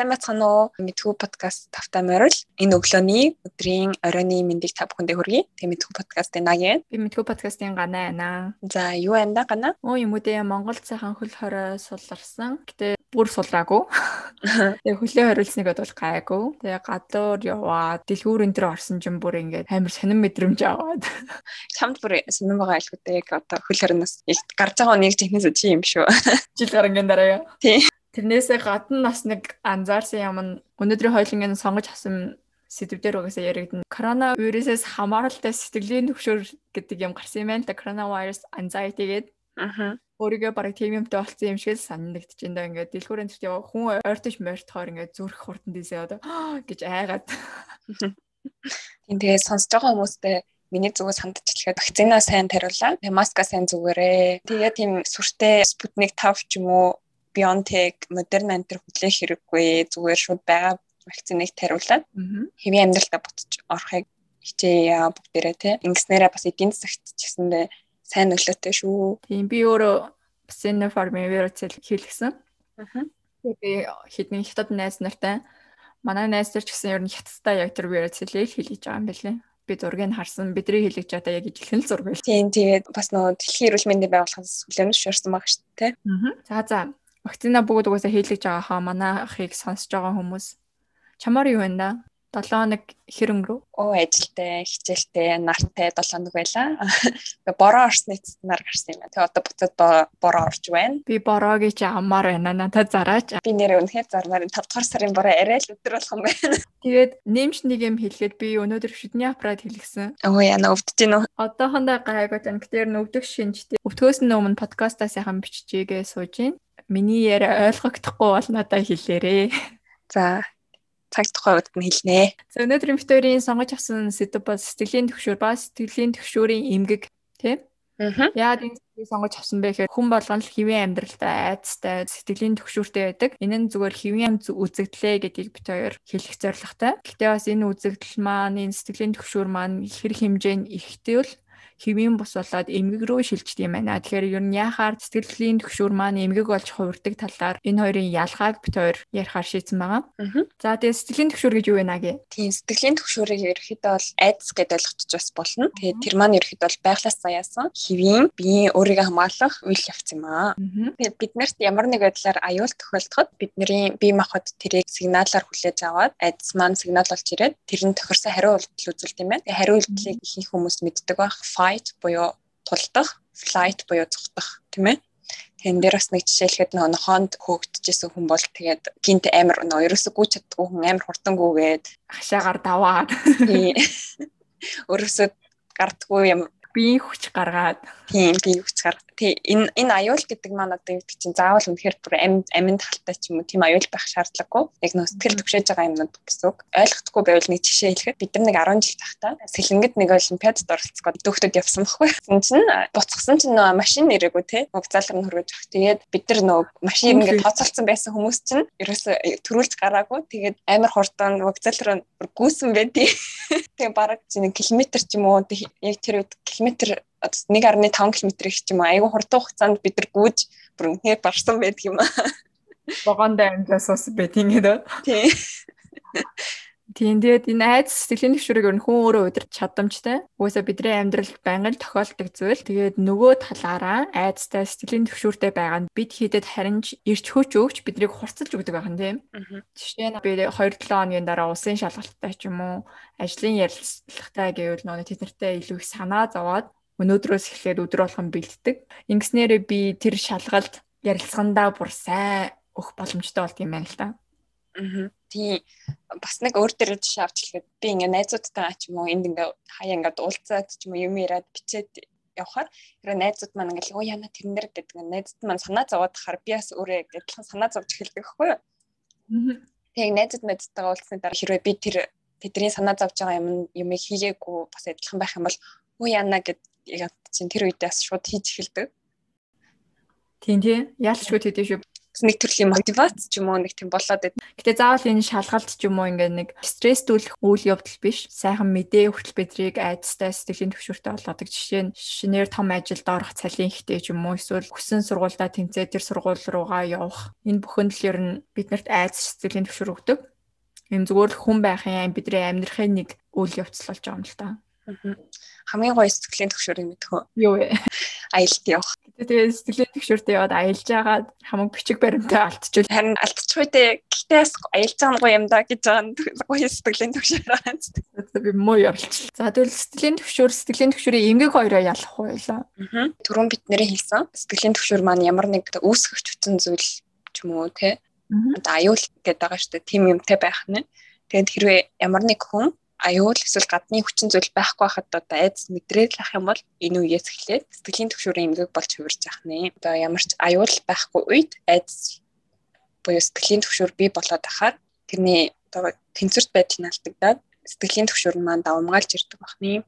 Сайн байцгаана уу? Мэдхүү подкаст тавтай морил. Энэ өглөөний өдрийн оройны мэндийг та бүхэндээ хүргэе. Тэгээ Мэдхүү подкастын Нагийн. Би Мэдхүү подкастын Ганаа байна. За, юу байна да Ганаа? Юм уу дээ Монгол цайхан хөл хорой суларсан. Гэтэ бүр сулраагүй. Тэгээ хөлөө хориулсныг бол гайгүй. Тэгээ гадуур яваад дэлгүүр энэ төр орсон ч бүр ингээд амар сонирн мэдрэмж аваад. Чамд бүр сонирн байгаа айлгүйтэй. Одоо хөл хорноос гарч байгаа нэг технээс чи юм шүү. Жил гарангийн дараа. Тийм. Тэрнээсээ гадна бас нэг анзаарсан юм нь өнөөдрийн хойлонгийн сонгож авсан сэдвээр угаасаа яригдана. Коронавирусээс хамааралтай сэтгэлийн төвшөр гэдэг юм гарсан юм байна л да. Coronavirus anxiety гэдэг. Өөрийгөө бараг тийм юмтай болсон юм шиг санагдаж байна. Ингээд дэлгүүрэн төрт яваа хүн ойртож морьтохоор ингээд зүрх хурдан дийсээ одоо гэж айгаад. Тэгээ сонсож байгаа хүмүүстэй миний зүгээс хандчихлаа. Вакцина сайн тариулаа. Маска сайн зүгээрээ. Тэгээ тийм сүртэй Sputnik 5 ч юм уу BioNTech, Moderna энэ хүлээх хэрэггүй. Зүгээр шууд байгаа вакциныг тариулаад хэвийн амьдралдаа буцаж орохыг хичээе бүгдээрээ тий. Ингэснээрээ бас эдийн засагт ч гэсэндээ сайн нөлөөтэй шүү. Тийм би өөрөө бас энэ формын вирусыг хийлгсэн. Би хэдэн хятад найз нартай манай найз нар ч гэсэн ер нь хятадтай яг тэр вирусыг хийлгэж байгаа юм байна лээ. Би зургийг харсан. Бидний хийлгэж байгаа яг ижилхэн зураг байл. Тийм тэгээд бас нөгөө дэлхийн эрүүл мэндийн байгууллагаас хүлээмж шуурсан байгаа шүү дээ. За. Вакцина бүгд угаасаа хийлгэж байгаа хаа манай ахыг сонсож байгаа хүмүүс. Чамаар юу вэ да? 7 хоног хэр өнгөрөв? Ажилтай, хичээлтэй, нартай 7 хоног байлаа. Бороо орсны цэцнаар гарсан юм байна. Тэгээ одоо буцаад бороо орж байна. Би бороогийн чи амаар байна. Надад зараач. Би нэрээ үнэхээр зармаар 5 дугаар сарын бороо арай л өдөр болох юм байна. Тэгээд нэмж нэг юм хэлгээд би өнөөдөр шүдний аппарат хэлгэсэн. Яна өвдөж гин үү? Одоохондоо гайгүй тань. Тэр өвдөх шинжтэй. Өвдгөөс нь өмнө подкастаа сайхан биччихье сууж гин. Миний яриа ойлгогдохгүй бол надад хэлээрээ. За цаг тухай удаад нь хэлнэ. За өнөөдрийн битүүрийн сонгож авсан сэдв бол сэтгэлийн төвшөр ба сэтгэлийн төвшөрийн эмгэг тийм. Яагаад энэ сэдвийг сонгож авсан бэ гэхээр хүн болгон л хэвийн амьдралтай айцтай сэтгэлийн төвшөртэй байдаг. Энэ нь зүгээр хэвийн үзэгдлээ гэдгийг бит хоёр хэлэх зорилготой. Гэхдээ бас энэ үзэгдэл маань энэ сэтгэлийн төвшөр маань хэр хэмжээнд ихтэй бол хэвийн бус болоод эмгэг рүү шилждэг юм байна. Тэгэхээр ер нь яхаар сэтгэлийн төвшөр маань эмгэг болж хувирдаг талаар энэ хоёрын ялгааг бит хоёр ярихаар шийдсэн байгаа. За тэгээ сэтгэлийн төвшөр гэж юу вэ наги? Тийм сэтгэлийн төвшөрийг ерөөхдөө бол айдас гэдээ ойлгочих бас болно. Тэгээд тэр маань ерөөхдөө бол байглаас заяасан хэвийн биеийн өөрийгөө хамгаалах үйл явц юм аа. Тэгээд биднэрт ямар нэг байдлаар аюул тохиолдоход бидний бие махбод тэрийг сигналаар хүлээж аваад айдас маань сигнал болж ирээд тэрний тохирсон хариу үйлдэл үзүүлдэг юм байна. Тэгээд хариу үйлдлийг ихэнх хүмүүс мэддэг байх. Fight буюу тулдах, flight буюу зогтох, тийм ээ. Тэгэхээр дээр бас нэг жишээлхэд нөгөө хоонд хөөгдөжсэн хүн бол тэгээд гинт амар нөгөө ерөөсөө гүйж чаддгүй хүн амар хурдангүйгээд хашаагаар даваад ерөөсөө гардгүй юм биеийн хүч гаргаад биеийн хүч гаргаад энэ аюул гэдэг маань одоо юу гэдэг чинь заавал үнэхээр бүр амин талтай ч юм уу тийм аюул байх шаардлагагүй. Яг нөө сэтгэл төвшөөж байгаа юмнууд гэсэн үг. Ойлгохгүй байвал нэг жишээ хэлэхэд бид нар нэг 10 жил тахтаа сэлэнгэд нэг олимпиадад оролцох гээд дүүхтэд явсан байхгүй. Тэгсэн чинь буцахсан чинь нөө машин нэрээгүй те. Вокзалар нь хөргөж авах. Тэгээд бид нар нөө машин ингээд тооцоолсон байсан хүмүүс чинь ерөөсөө төрүүлж гараагүй. Тэгээд амар хурдан вокзалар гүйсэн байдیں۔ Тэгээ бараг чинь километр ч юм уу яг тэр үед километр 1.5 км-ийг ч юм уу айгүй хурдан хугацаанд бид нар гүйж бүр үнээр барсан байдаг юм аа. Богондоо амжаас ус байдаг гэдэг. Тийм тэгээд энэ айдас сэтгэлийн төвшөрийг ер нь хүн өөрөө удирч чадамжтай. Угаасаа бидний амьдралд байнгын тохиолддог зүйл. Тэгээд нөгөө талаараа айдастай сэтгэлийн төвшөртэй байгаа нь бид хийдэд харин ирч хүч өгч биднийг хурцлж өгдөг байх нь тийм. Жишээ нь би 2-7 хоногийн дараа усын шалгалттай ч юм уу ажлын ярилцлагатай гэвэл нөгөө тэд нартай илүү их санаа зовоод өнөөдрөөс эхлээд өдөр болгон бэлддэг. Ингэснээрээ би тэр шалгалт ярилцлагандаа бүр сайн өгөх боломжтой болд юм байна л да. Тийм бас нэг өөр дээр жишээ авч хэлэхэд би ингээ найзуудтай ч юм уу энд ингээ хаяа ингээ уулзаад ч юм уу юм яриад бичээд явхаар тэр найзууд маань ингээ яна тэрэн дээр гэдэг найзууд маань санаа зовоод хахаар би бас өөрөө адилхан санаа зовж эхэлдэг байхгүй юу. Тэгээ найзууд мэдтэйгээ уулзсны дараа хэрвээ би тэр тэдний санаа зовж байгаа юмыг хийгээгүй бас адилхан байх юм бол яна гэд яг чинь тэр үедээ шууд хийж эхэлдэг. Тийм яалчгүй тэдэж шүү. нэг төрлийн мотивац ч юм уу нэг тийм болоод байд. Гэтэ заавал энэ шалгалт ч юм уу ингээд нэг стресстүүлэх үйл явдал биш. Сайхан мэдээ хүртэл бидрийг айдастай сэтгэлийн төвшөртэй болгодог. Жишээ нь шинээр том ажилд орох цалин ихтэй ч юм уу эсвэл хүссэн сургуультай тэмцээ тэр сургууль руугаа явах. Энэ бүхэн л ер нь биднэрт айдас сэтгэлийн төвшөр өгдөг. Энэ зүгээр л хүн байхын бидний амьдрахын нэг үйл явц болж байгаа юм л та. Хамгийн гоё сэтгэлийн төвшөрийг мэдэх үү? Юу вэ? Аялалд явах. Тэгээд сэтгэлийн төвшөртөө яваад аялж байгаад хамаг бичиг баримтаа алдчихвал харин алдчихгүй дээ. Гэтээ аялж байгаа нь гоё юм да гэж байгаа нь гоё сэтгэлийн төвшөр байгаа юм. Би муу явуулчих. За тэгвэл сэтгэлийн төвшөрийн эмгэг хоёроо ялах байлаа. Түрүүн бид нэрээ хэлсэн. Сэтгэлийн төвшөр маань ямар нэг үүсгэж хүчин зүйл ч юм уу те. Одоо аюул гэдэг байгаа шүү дээ. Тим юмтай байх нь. Тэгээд хэрвээ ямар нэг хүн аюул эсвэл гадны хүчин зүйл байхгүй байхад одоо айдас мэдрээд лах юм бол энэ үеэс эхлээд сэтгэлийн төвшөрийн эмгэг болж хувирж яах нэ. Одоо ямар ч аюул байхгүй үед айдас буюу сэтгэлийн төвшөр бий болоод ахаар тэрний одоо тэнцвэрт байдал нь алдагдаад сэтгэлийн төвшөр маань давмгаалж ирдэг бахны.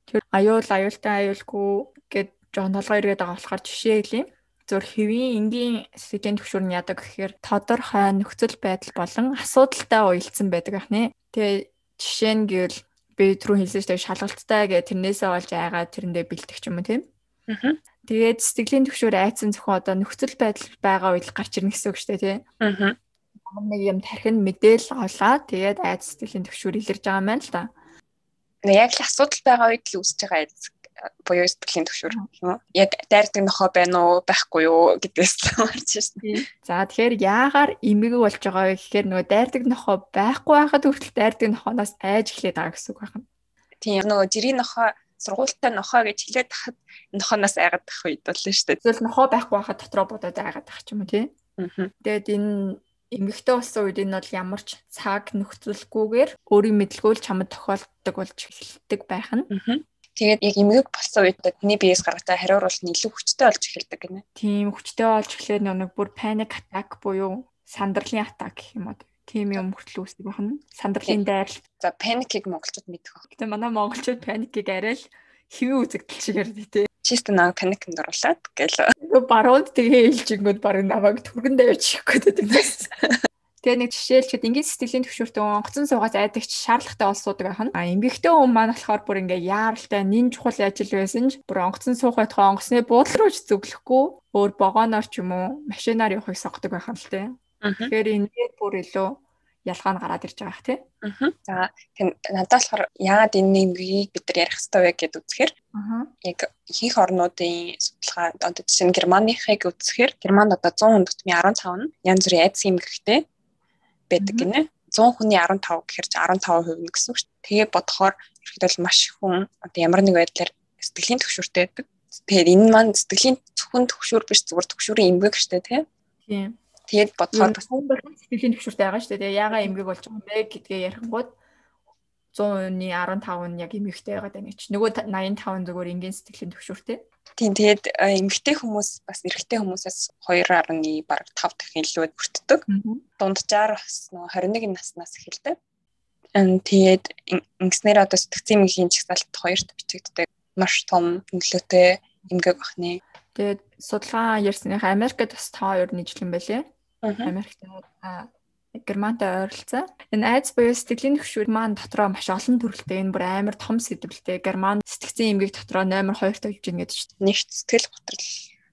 Тэр аюултай аюулгүй гэд жоон толгой ирээд байгаа болохоор жишээ хэлье. Зөв хэвийн энгийн сэтгэлийн төвшөр нь яадаг гэхээр тодорхой нөхцөл байдал болон асуудалтай уялдсан байдаг ахны. Тэгээ жишээ нь гэвэл би түрүү хэлсэн шүү дээ шалгалттай гэх тэрнээсээ болж айгаад тэрэндээ бэлтэх юм тийм. Тэгээд сэтгэлийн төвшөр айцсан зөвхөн одоо нөхцөл байдал байгаа үед гарч ирнэ гэсэн үг шүү дээ тийм. Нэг юм тархинд мэдээлэл олаа тэгээд айц сэтгэлийн төвшөр илэрж байгаа юм байна л да. Яг л асуудал байгаа үед л үүсэж байгаа айц буюу сэтгэлийн төвшөр юм уу? Яг дайрдаг нохоо байна уу байхгүй юу гэдгээс марч шээ. За тэгэхээр яагаар эмгэг болж байгаа вэ гэхээр нөгөө дайрдаг нохоо байхгүй байхад хүртэл дайрдаг нохооноос айж эхлэх байгаа гэсэн үг байна. Тийм нөгөө жирийн нохоо сургуультай нохоо гэж хэлээд тахад нохооноос айгаад тах үед бол шүү дээ. Эсвэл нохоо байхгүй байхад дотроо бодоод айгаад тах ч юм уу тийм. Тэгээд энэ эмгэгтэй болсон үед энэ бол ямар ч цаг нөхцөлгүйгээр өөрийн мэдлгөөл чамд тохиолддог болж эхэлдэг байх нь. Тэгээд яг эмгэг болсон үед таны биеэс гаргатай хариуруулт нь илүү хүчтэй болж эхэлдэг гинэ. Тийм хүчтэй болж эхлээд нэг бүр panic attack буюу сандарлын атак гэх юм уу. Тийм юм хүртэл үүсдэг байна. Сандарлын дайралт. За паникийг монголчууд мэдэх баг. Гэтэ манай монголчууд паникийг арай л хэвэн үзэгдэл шиг ярьдаг тий. Чист нэг паникт оруулаад гэл. Барууд тэгээ хэлжингүүд барыг намайг түргэн давж ихгүй гэдэг. Тэгээ нэг жишээлчүүд ингийн сэтгэлийн төвшөртөө онгоцон суугаас айдагч шаардлагатай олсуудаг ахна. Эмгэгтэй хүн маань болохоор бүр ингээ яаралтай нин чухал ажил байсан ч бүр онгоцон суух байтугай онгоцны буудлын руу ч зөвлөхгүй өөр вагоноор ч юм уу машинаар явахыг сонгодог байх юм л те. Тэгэхээр энэ бүр илүү ялгаа нь гараад ирж байгаа х тий. За тийм надад болохоор яагаад энэ эмгэгийг бид нар ярих хэрэгтэй вэ гэдээ үзэхээр яг ихэнх орнуудын судалгаа одоо жишээ нь Германыхыг үзэхээр Германд одоо 100 хүн тутмын 15 нь янз бүрийн айдас эмгэгтэй байдаг гинэ. 100 хүний 15 гэхээр 15% нь гэсэн үг шүү дээ. Тэгээ бодохоор ихэд бол маш их хүн одоо ямар нэг байдлаар сэтгэлийн төвшөртэй байдаг. Тэгэхээр энэ маань сэтгэлийн зөвхөн төвшөр биш зүгээр төвшөрийн эмгэг шүү дээ тийм. Тэгээд бодохоор бас сэтгэлийн төвшөртэй байгаа шүү дээ. Тэгээ яагаад эмгэг болж байгаа юм бэ гэдгээ ярихгүйд 100-ны 15 нь яг эмгэгтэй байгаад байна гэж. Нөгөө 85 зүгээр энгийн сэтгэлийн төвшөртэй. Тийм тэгээд эмгэгтэй хүмүүс бас эрэгтэй хүмүүсээс 2.5 дахин илүү хүртдэг. Дунджаар бас нөгөө 21 наснаас эхэлдэг. Тэгээд ингэснээр одоо сэтгцэн эмгэгийн чагсаалт 2-т бичигддэг. Маш том нөлөөтэй эмгэг бахны. Тэгээд судалгаа ярьсныхаа Америкт бас та хоёр нийтлэн байлээ. Америкт Германтай ойролцоо. Энэ айдас буюу сэтгэлийн төвшөр маань дотроо маш олон төрөлтэй. Энэ бүр амар том сэдвэлтэй. Герман сэтгцэн эмгэг дотроо номер 2-т явж байна гэдэг чинь. Нэгт сэтгэл готрол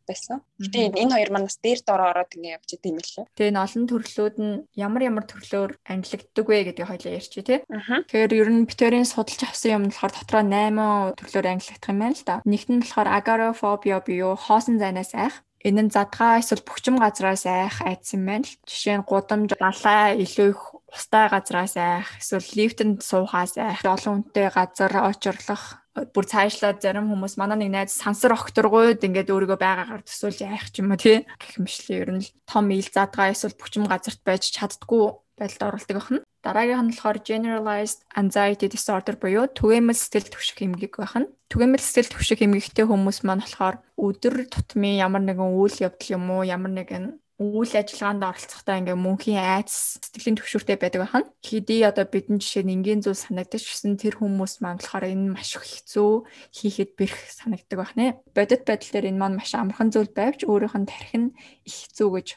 байсан. Гэтэ энэ хоёр манаас дээр дороо ороод ингэ явж идэв юм лээ. Тэгээ энэ олон төрлүүд нь ямар төрлөөр ангилагддаг вэ гэдгийг хоёлаа ярьчих тий. Тэгэхээр ер нь битэрийн судалж авсан юм болохоор дотроо 8 төрлөөр ангилагдах юм байна л да. Нэгт нь болохоор агорафобиа буюу хоосон зайнаас айх. Энэ нь задгаа эсвэл бөхчим газраас айх айдас юм байна л. Жишээ нь гудамж, далай, илүү их устай газраас айх, эсвэл лифтэнд суухаас айх, олон хүнтэй газар очирлох. Бүр цаашлаад зарим хүмүүс манай нэг найз сансар огторгойд ингээд өөрийгөө байгаагаар төсөөлж айх ч юм уу тий. Гэх мэтлээ ер нь том ил задгаа эсвэл бөхчим газарт байж чаддгүй байдалд оролдог байна. Дараагийнх нь болохоор generalized anxiety disorder буюу түгээмэл сэтгэл түвших эмгэг байна. Түгээмэл сэтгэл түвших эмгэгтэй хүмүүс маань болохоор өдөр тутмын ямар нэгэн үйл явдал юм уу, ямар нэгэн үйл ажиллагаанд оролцохдоо ингээ мөнхийн айдас сэтгэлийн төвшөртэй байдаг байна. Хэдий одоо бидний жишээ нь энгийн зүйл санагдаж гисэн тэр хүмүүс маань болохоор энэ маш их хэцүү хийхэд бэрх санагддаг байна. Бодит байдал дээр энэ маань маш амархан зүйл байвч өөрийнх нь тарих нь их хэцүү гэж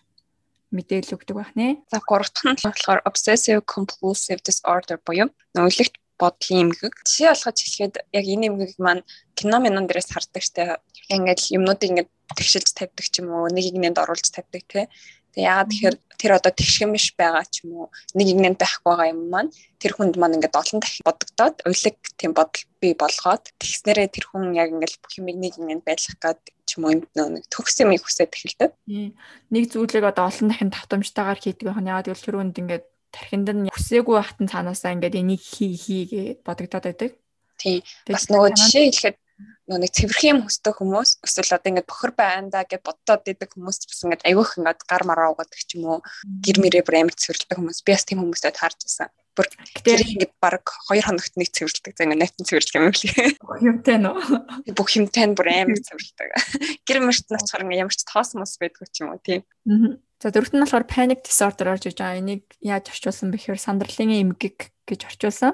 мэдээлэл өгдөг байх нэ. За 3 дахь нь болохоор obsessive compulsive disorder буюу нөлөөлөлт бодлын эмгэг. Жишээ олгож хэлэхэд яг энэ эмгэг маань кино минон дээрээс хардаг штэ. Ингээд юмнуудыг ингээд тэгшилж тавьдаг ч юм уу, нэг игнэнд оруулж тавьдаг те. Тэгээ яагаад тэгэхээр тэр одоо тэгшгэн биш байгаа ч юм уу, нэг игнэнд байхгүй байгаа юм маань тэр хүнд маань ингээд олон дахин бодогдоод уйлаг тийм бодол бий болгоод тэгснээрээ тэр хүн яг ингээд бүх юмыг нэг игнэнд байлгах гээд ч юм уу нэг төгс юм хүсээд эхэлдэг. Нэг зүйлийг одоо олон дахин давтамжтайгаар хийдэг байх нь яагаад гэвэл тэр хүнд ингээд тархинд нь хүсээгүй байхад цаанаасаа ингээд энийг хий бодогдоод байдаг. Тийм. Бас нөгөө жишээ хэлэхэд нэг цэвэрхэн юм хүсдэг хүмүүс эсвэл одоо ингээд бохор байндаа гэж бодоод идэг хүмүүс бас ингээд айгүйх ингээд гар мараа угадаг ч юм уу гэр мэрээ бүр амар цэвэрлдэг хүмүүс би бас тийм хүмүүстэй таарч байсан. Бүр тэр ингээд баг 2 хоногт нэг цэвэрлдэг. За ингээд найтан цэвэрлэх юм лээ. Бүх юмтай нөө. Бүх юмтай бүр амар цэвэрлдэг. Гэр мэрт нь очихоор ингээд ямар ч тоос мос байдгүй ч юм уу тийм. За дөрөвт нь болохоор panic disorder орж иж байгаа. Энийг яаж орчуулсан бэхээр сандралын эмгэг гэж орчуулсан.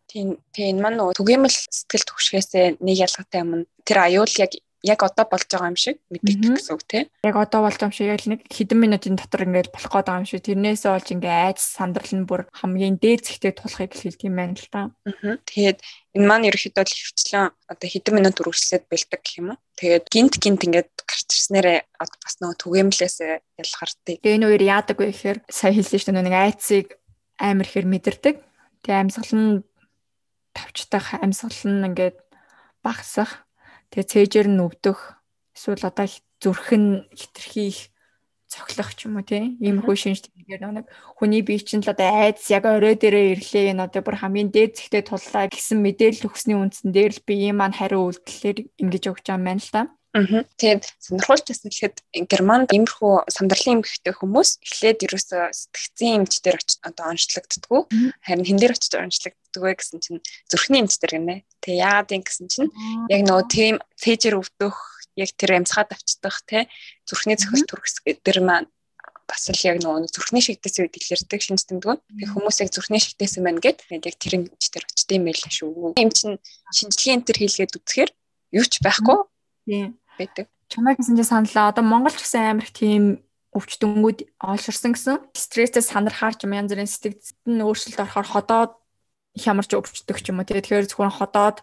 Тийм энэ маань нөгөө түгээмэл сэтгэл түгшгээсээ нэг ялгаатай юм. Тэр аюул яг одоо болж байгаа юм шиг мэддэг гэсэн үг тийм. Яг одоо болж байгаа юм шиг яг нэг хэдэн минутын дотор ингээд болох гээд байгаа юм шиг. Тэрнээсээ болж ингээд айц сандрал нь бүр хамгийн дээд зэгтээ тулахыг хэлдэг юм байна л та. Тэгээд энэ маань ерөөхдөө л хөвчлэн одоо хэдэн минут үргэлжлээд бэлдэг гэх юм уу. Тэгээд гинт ингээд гарч ирснээрээ бас нөгөө түгээмлээсээ ялгардаг. Тэгээ энэ үеэр яадаг вэ гэхээр сая хэлсэн шүү дээ нэг айцыг амар ихээр мэдэрдэг. Тэгээ амьсгал нь тавчдах амьсгал нь ингээд багасах. Тэгээ цээжээр нь өвдөх эсвэл одоо зүрх нь хитрхи их цохлох ч юм уу тийм иймэрхүү шинж тэмдгээр нэг хүний бие чинь л одоо айдас яг орой дээрээ ирлээ энэ одоо бүр хамгийн дээд зэгтээ туллаа гэсэн мэдээлэл өгсөний үндсэн дээр л бие маань хариу үйлдэлээр ингэж өгч байгаа юм байна л та. Тэгээд сонирхолтой байсан гэхэд Германд иймэрхүү сандралын эмгэгтэй хүмүүс эхлээд ерөөсөө сэтгцийн эмч дээр одоо онцлогддггүй. Харин хэн дээр очиж онцлогддог вэ гэсэн чинь зүрхний эмч дээр гинэ. Тэгээ яагаад юм гэсэн чинь яг нөгөө тийм цээжээр өвдөх, яг тэр амьсгаа давчдах те зүрхний цохилт төрөс гэдэг маань бас л яг нөгөө зүрхний шигтээс үед илэрдэг шинж тэмдэг. Тэгээ хүмүүс яг зүрхний шигтээс юм байна гэд яг тэр эмч дээр очиж юм байл шүү. Эм чин шинжилгээнд тэр хийлгээд үзэхээр юу ч байхгүй. Тийм байдаг. Чамайг гэсэн чинь саналаа. Одоо Монгол ч гэсэн амар их тийм өвчтөнгүүд олширсан гэсэн. Стрессээс сандрахаар ч юм янз бүрийн сэтгэцэд нь өөрчлөлт орохоор ходоод хямарч өвчтдөг ч юм уу. Тэгэхээр зөвхөн ходоод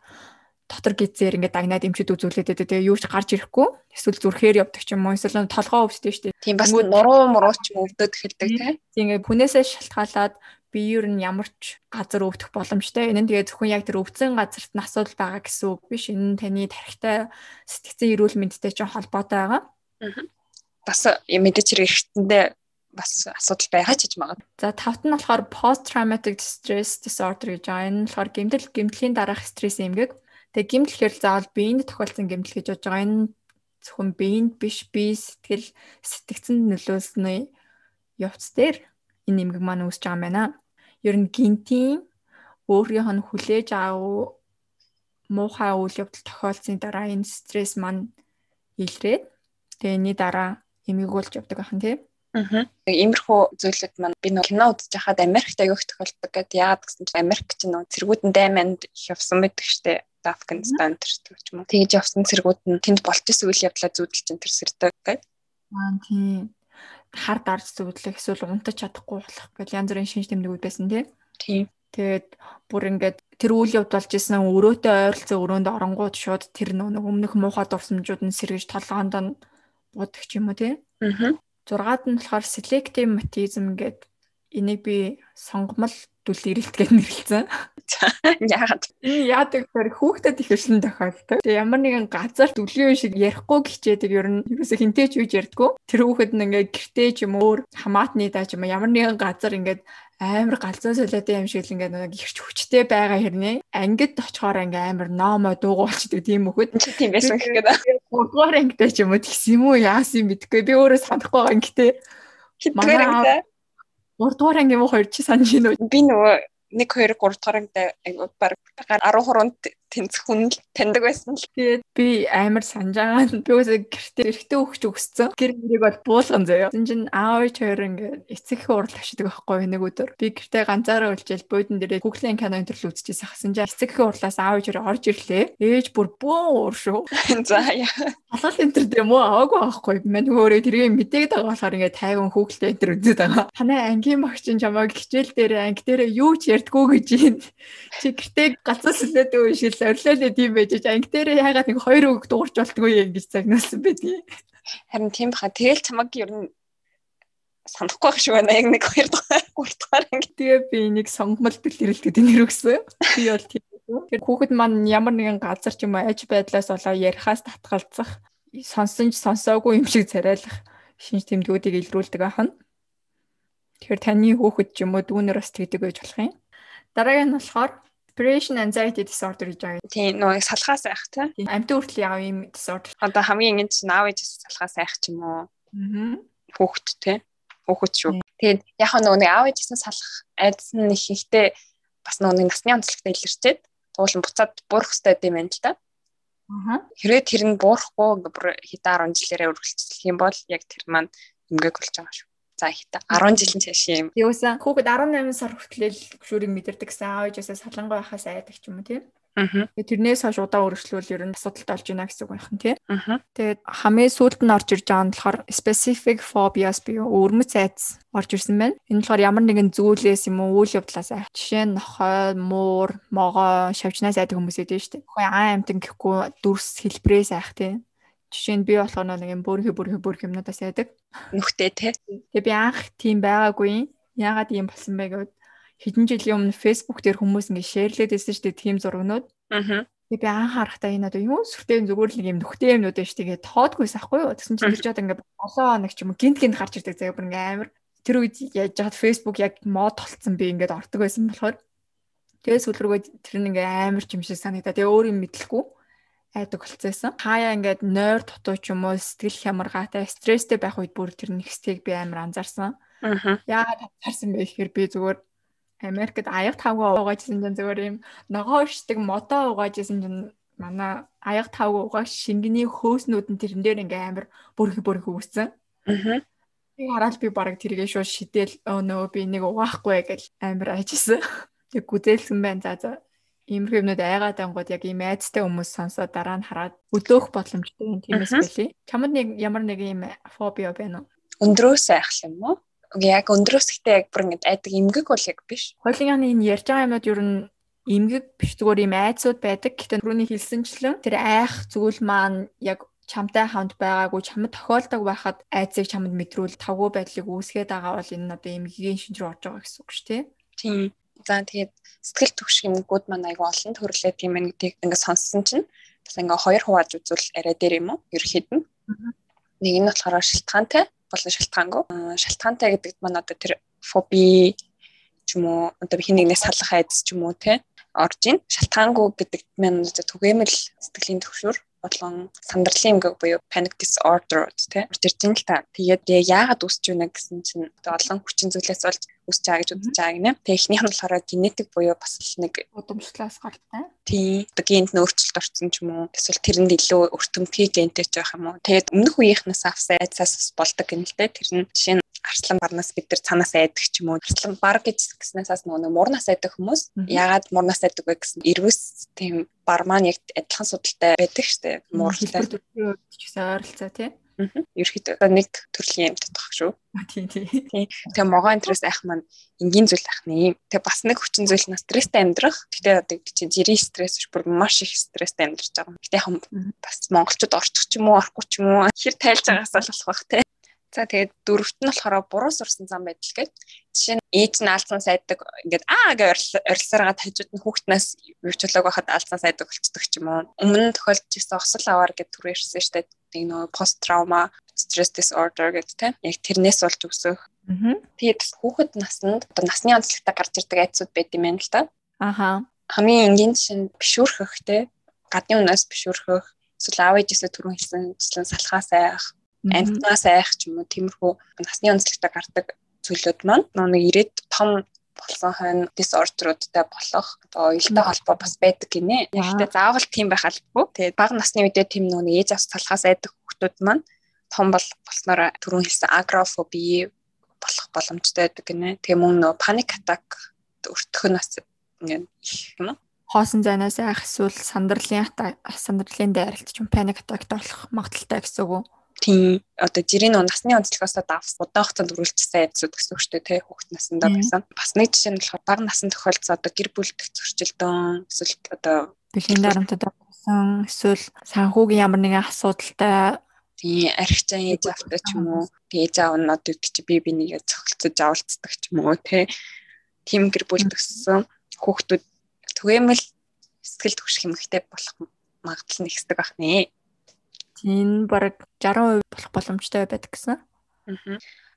дотор гизээр ингээд дагнаад эмчүүд үзүүлээд байдаг. Тэгээ юу ч гарч ирэхгүй. Эсвэл зүрхээр явдаг ч юм уу. Эсвэл толгоо өвчтдөг шүү дээ. Тийм бас муруу ч юм өвдөд эхэлдэг тийм. Ингээд хүнээсээ шалтгаалаад биеэр нь ямар ч газар өвдөх боломжтой. Энэ нь тэгээ зөвхөн яг тэр өвдсөн газарт нь асуудал байгаа гэсэн үг биш. Энэ нь таны тархитай сэтгцэн эрүүл мэндтэй ч холбоотой байгаа. Бас мэдээч хэрэгтэндээ бас асуудал байгаа ч гэж магад. За тавт нь болохоор post traumatic stress disorder гэж байгаа. Энэ нь болохоор гэмтлийн дараах стресс эмгэг. Тэгээ гэмтэл гэхэл заавал биеинд тохиолдсон гэмтэл гэж бодож байгаа. Энэ зөвхөн биеинд биш, бие сэтгэл сэтгцэнд нөлөөлсөний явц дээр энэ эмгэг маань үүсэж байгаа юм байна. Ер нь гинтийн өөрийнх нь хүлээж аав муухай үйл явдал тохиолдсны дараа энэ стресс маань илрээд тэний дараа эмгэг болж явдаг ахын тийм. Иймэрхүү зүйлүүд маань би нэг кино үзэж байхад Америкт аявих тохиолддог гэдэг. Яагаад гэсэн чинь Америк чинь нэг цэргүүд нь дайманд их явсан байдаг штэ. Афганистан төрөлтөг ч юм уу. Тэгж явсан цэргүүд нь тэнд болж исэн үйл явдлаа зүүдэлж энэ төрсөрдөг гэдэг. Тийм. Хар дарж зүудлэх эсвэл унтаж чадахгүй болох гэж янз бүрийн шинж тэмдгүүд байсан тийм. Тэгээд бүр ингээд тэр үйл явд болж исэн өрөөтэй ойролцоо өрөөнд оронгууд шууд тэр нэг өмнөх муухай дурсамжууд нь сэргэж толгоонд нь буудаг ч юм уу тийм. 6-ад нь болохоор selective mutism гэдэг энийг би сонгомол дүл ирэлтгээд нэрлэсэн. Яагаад? Энэ яадаг гэхээр хүүхдэд их өршин тохиолдог. Тэгээ ямар нэгэн газар дүлийн шиг ярихгүй гिचээдэг ер нь юусаа хинтэй ч үж ярьдгүү. Тэр хүүхэд нь ингээд гэртээ ч юм өөр хамаатны даа ч юм ямар нэгэн газар ингээд амар галзуу солиотой юм шиг л ингээд нэг ихч хүчтэй байгаа хэрнээ. Ангид очихоор ингээд амар номоо дуугуулчдаг тийм хүүхэд. Тийм байсан гэхэд. 3-р ангитай ч юм уу тэгсэн юм уу яасан мэдэхгүй. Би өөрөө санахгүй байгаа ингэтэй. Хэдгээр ангитай? 3-р анги юм уу 2 чи санаж байна уу? Би нөгөө 1 2 3 дугаар ангитай баг 13-нд тэнцэх хүн л таньдаг байсан л. Тэгээд би амар санджаагаа би үсээ гэртээ өгч өгсөн. Гэр мөрийг бол буулган заяа. Тэгсэн чинь аав ээж хоёр ингээд эцэг хурал авчдаг байхгүй нэг өдөр. Би гэртээ ганцаараа үлжээл буудан дээрээ Google-ийн кино интерл үзчихсэн хасан чинь эцэг хурлаас аав ээж хоёр орж ирлээ. Ээж бүр бөө шүү. За яа. Халаал энтер дээ мөө аваагүй байхгүй. Мань өөрөө тэрийг мэдээд байгаа болохоор ингээд тайван Google энтер үзээд байгаа. Танай ангийн багч нь чамайг хичээл дээр анги дээр юу ч ярьдгүү гэж юм. Чи гэртээ галзуу сүлээд үйшил орилоо тийм байж анги дээр яагаад нэг хоёр үг дуурч болтгүй юм гэж загнуулсан байдгийг. Харин тийм баха. Тэгэл чамайг ер нь санахгүй байх шүү байна. Яг нэг 2 дахь 3 дахь анги. Тэгээ би нэг сонгомол бэлтгэлтэй нэр өгсөн. Би бол тийм. Тэр хүүхэд маань ямар нэгэн газар ч юм уу аж байдлаас болоо ярихаас татгалзах, сонсон ч сонсоогүй юм шиг царайлах шинж тэмдгүүдийг илрүүлдэг ахна. Тэгэхээр таны хүүхэд ч юм уу дүүнэр бас тэгдэг байж болох юм. Дараагийн нь болохоор separation anxiety disorder гэж байгаа. Тийм нөө салхаас айх тийм. Амьтан хүртэл яав юм disorder. Одоо хамгийн ингэ чинь аав ээжээс салхаас айх ч юм уу. Хүүхэд тийм. Хүүхэд шүү. Тэгээд яг нөгөө нэг аав ээжээс салах айдас нь их ихтэй бас нөгөө насны онцлогтой илэрчээд туулан буцаад буурах хэрэгтэй юм байна л да. Хэрвээ тэр нь буурахгүй ингээ бүр хэдэн 10 жилээрээ үргэлжлэх юм бол яг тэр маань эмгээг болж байгаа шүү. За хэдэн 10 жилийн цааш юм. Юусан хүүхэд 18 сар хүртэл гүшүүрийг мэдэрдэг гэсэн аав ээжээс салангуй байхаас айдаг ч юм уу тийм. Тэрнээс хойш удаа өргөжлүүл ер нь асуудалтай болж байна гэсэн үг байна тийм. Тэгээд хамгийн сүүлд нь орж ирж байгаа нь болохоор specific phobias буюу өвөрмөц айдас орж ирсэн байна. Энэ болохоор ямар нэгэн зүйлээс юм уу үйл явдлаас айх. Жишээ нь нохой, муур, могоо, шавжнаас айдаг хүмүүс байдаг шүү дээ. Хөөе амтан гэхгүй дүрс хэлбрээс айх тийм. Жишээ нь би болохоор нэг юм бүрхи юмнуудаас айдаг. Нүхтэй тий. Тэгээ би анх тийм байгаагүй. Яагаад ийм болсон бэ гэвэл хэдэн жилийн өмнө Facebook дээр хүмүүс ингэ шеэрлээд байсан шүү дээ тийм зургнууд. Тэгээ би анх харахтаа энэ одоо юу сүртэй зүгээр л нэг юм нүхтэй юмнууд байж тэгээ тоодгүйс ахгүй юу. Тэгсэн чинь тэр жоод ингэ олон хоног ч юм уу гинт гарч ирдэг заяа бүр ингэ амар. Тэр үед яаж жаад Facebook яг мод толцсон би ингээд ордог байсан болохоор тэгээ сүүл рүүгээ тэр нэг амар ч юм шиг санагдаа. Тэгээ өөр юм мэдлэхгүй айдаг болцсон. Хаяа ингээд нойр дутуу ч юм уу сэтгэл хямргаатай стресстэй байх үед бүр тэр нэгсгийг би амар анзаарсан. Яагаад анзаарсан бэ гэхээр би зүгээр Америкт аяг тавгаа угаажсэн чинь зүгээр юм ногоо ишдэг модоо угаажсэн чинь манай аяг тавгаа угааж шингэний хөөснүүд нь тэрэн дээр ингээ амар бүрхи үүссэн. Би хараад би бараг тэргээ шууд шидэл нөө би нэг угаахгүй гэж амар ажижсэн. Тэг гүзээлсэн байна. За иймэрхүү юмнууд айгаад ангууд яг ийм айцтай хүмүүс сонсоод дараа нь хараад өдөөх боломжтой юм тиймээс байлээ. Чамд нэг ямар нэг ийм фобиа байна уу? Өндрөөс айх юм уу? Яг өндрөөсгтэй яг бүр ингэ айдаг эмгэг бол яг биш. Хоёлын энэ ярьж байгаа юмнууд ер нь эмгэг биш зүгээр ийм айцуд байдаг. Гэхдээ түрүүний хэлсэнчлэн тэр айх зүйл маань яг чамтай хамт байгаагүй чамд тохиолдог байхад айцыг чамд мэдрүүл тавгүй байдлыг үүсгээд байгаа бол энэ одоо эмгэгийн шинж рүү орж байгаа гэсэн үг шүү дээ. Тийм. За тэгээд сэтгэл түгших эмгэгүүд маань айгүй олон төрлөө тийм ээ гэдгийг ингэ сонссон чинь бас ингээ хоёр хувааж үзвэл арай дээр юм уу? Ерхэд нь. Нэг нь болохоор шалтгаантай болон шалтгаангүй. Шалтгаантай гэдэг маань одоо тэр фоби ч юм уу одоо хин нэгнээс салах айдас ч юм уу те орж ийн. Шалтгаангүй гэдэг маань одоо түгээмэл сэтгэлийн төвшөр болон сандарлын эмгэг буюу panic disorder те орж ирж ин л та. Тэгээд яагаад үүсч байна гэсэн чинь одоо олон хүчин зүйлээс болж үүсч байгаа гэж үзэж байгаа гинэ. Тэгээд эхнийх нь болохоор генетик буюу бас л нэг удамшлаас гартай. Тийм. Одоо генд нь өөрчлөлт орсон ч юм уу. Эсвэл тэрэнд илүү өртөмтгий гентэй ч байх юм уу. Тэгээд өмнөх үеийнхнээс авсан айдсаас болдог гэнэ л те. Тэр нь жишээ нь арслан барнаас бид нар цанаас айдаг ч юм уу. Арслан бар гэж гиснээс нөгөө муурнаас айдаг хүмүүс. Яагаад муурнаас айдаг вэ гэсэн эрвэс тийм бар маань яг адилхан судалтай байдаг штэ. Мууртай. Чигсээ ойролцоо тий. Ерөөхдөө нэг төрлийн юм татах шүү. Тийм. Тэгээ могоо энтрээс айх маань энгийн зүйл ах нэ. Тэгээ бас нэг хүчин зүйл нь стресстэй амьдрах. Гэтэ одоо чинь жирийн стресс биш бүр маш их стресстэй амьдарч байгаа. Гэтэ яг бас монголчууд орчих ч юм уу, орохгүй ч юм уу хэр тайлж байгаас л болох бах те. За тэгээд дөрөвт нь болохоор буруу сурсан зам байдал гээд жишээ нь ээж нь алдсанаас айдаг ингээд гэж орилсараад хажууд нь хүүхднээс юучлаг байхад алдсанаас айдаг болцдог ч юм уу. Өмнө нь тохиолдож ирсэн осол аваар гэж түр ярьсан шүү дээ. Нэг нөө пост траума stress disorder гэдэг тийм яг тэрнээс болж өсөх. Тэгээд хүүхэд наснд одоо насны онцлогтой гарч ирдэг айцуд байд юм байна л да. Хамгийн энгийн жишээ нь бишүүрхэх те гадны үнээс бишүүрхэх эсвэл аав ээжээсээ түрүүн хэлсэнчлэн салхаас айх амтнаас айх ч юм уу тиймэрхүү насны онцлогтой гардаг зүйлүүд маань нэг ирээд том болсон хойно дисордеруудтай болох одоо уялдаа холбоо бас байдаг гинэ. Яг тэ заавал тийм байх албагүй. Тэгээд бага насны үедээ тийм нөгөө ээж авс талхаас айдаг хүүхдүүд маань том болсноор түрүүн хэлсэн агрофоби болох боломжтой байдаг гинэ. Тэгээ мөн нөгөө паник атак өртөх нь бас ингээд их юм уу? Хоосон зайнаас айх эсвэл сандралын дайралт ч юм паник атакт болох магадaltaй гэсэн үг үү? Тийм одоо жирийн насны онцлогоос давс удаан хугацаанд үргэлжлсэн айдсууд гэсэн үгтэй те хүүхэд насндаа байсан. Бас нэг жишээ нь болохоор бага насанд тохиолдсон одоо гэр бүлдэх зөрчилдөөн эсвэл одоо бэлгийн дарамтад болсон эсвэл санхүүгийн ямар нэгэн асуудалтай тийм архичаан ээж автай ч юм уу ээж аав нь одоо чи би нэгээ цогцолцож авалцдаг ч юм уу те тийм гэр бүл төссөн хүүхдүүд түгээмэл сэтгэл түгших юмхтэй болох магадлал нь ихсдэг байх нэ. Тийм бараг 60% болох боломжтой байдаг гэсэн.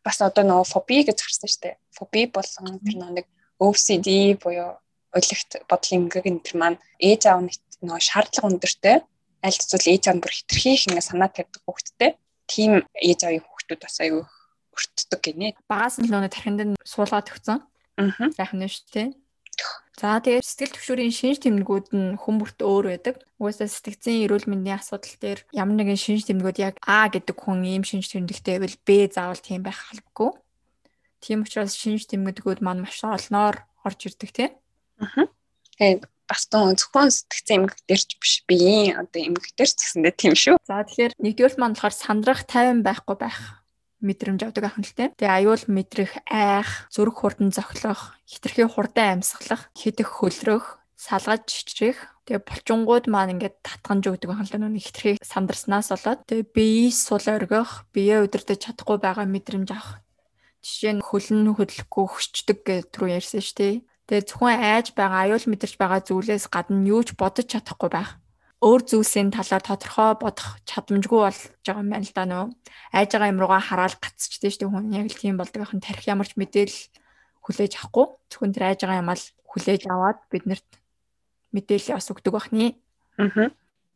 Бас одоо нөгөө фоби гэж харсан шүү дээ. Фоби болон тэр нэг OCD буюу уйлгт бодлын эмгэг энэ төр маань ээж аав нь нөгөө шаардлага өндөртэй аль эсвэл ээж аав бүр хитрхийх ингээ санаа тавьдаг хүүхдтэй. Тийм ээж аавын хүүхдүүд бас аюу өртдөг гинэ. Багаас нь л нөгөө тархинд нь суулгаад өгсөн. Сайхан нь шүү дээ. За тэгээд сэтгэл түвшүүрийн шинж тэмдгүүд нь хүн бүрт өөр байдаг. Угаасаа сэтгцийн эрүүл мэндийн асуудал дээр ямар нэгэн шинж тэмдгүүд яг А гэдэг хүн ийм шинж тэмдэгтэй байвал Б заавал тийм байх албагүй. Тийм учраас шинж тэмдгүүд маань маш олноор орж ирдэг тийм. Тэгээд бас зөвхөн сэтгцийн эмгэг дээр ч биш биеийн одоо эмгэг дээр ч гэсэндээ тийм шүү. За тэгэхээр нэгдүгээр маань болохоор сандрах тайван байхгүй байх мэдрэмж авдаг ахын л тийм. Тэгээ аюул мэдрэх, айх, зүрх хурдан зохилох, хитрхи хурдан амьсгалах, хидэх хөлрөх, салгаж чичрэх. Тэгээ булчингууд маань ингээд татганж өгдөг ахын л нэг хитрхи сандарснаас болоод тэгээ биеис сул оргих, биеэ удирдах чадахгүй байгаа мэдрэмж авах. Жишээ нь хөлн хөдлөхгүй хөшчдөг гэж түрүү ярьсан шүү дээ. Тэгээ зөвхөн айж байгаа, аюул мэдэрч байгаа зүйлээс гадна юу ч бодож чадахгүй байх. Өөр зүйлсийн талаар тодорхой бодох чадамжгүй болж байгаа юм байна л да нөө. Айж байгаа юм руугаа хараад гацчихдээ шүү дээ хүн яг л тийм болдог ахын тарих ямарч мэдээлэл хүлээж авахгүй. Зөвхөн тэр айж байгаа юм ал хүлээж аваад биднэрт мэдээлэл бас өгдөг бахны.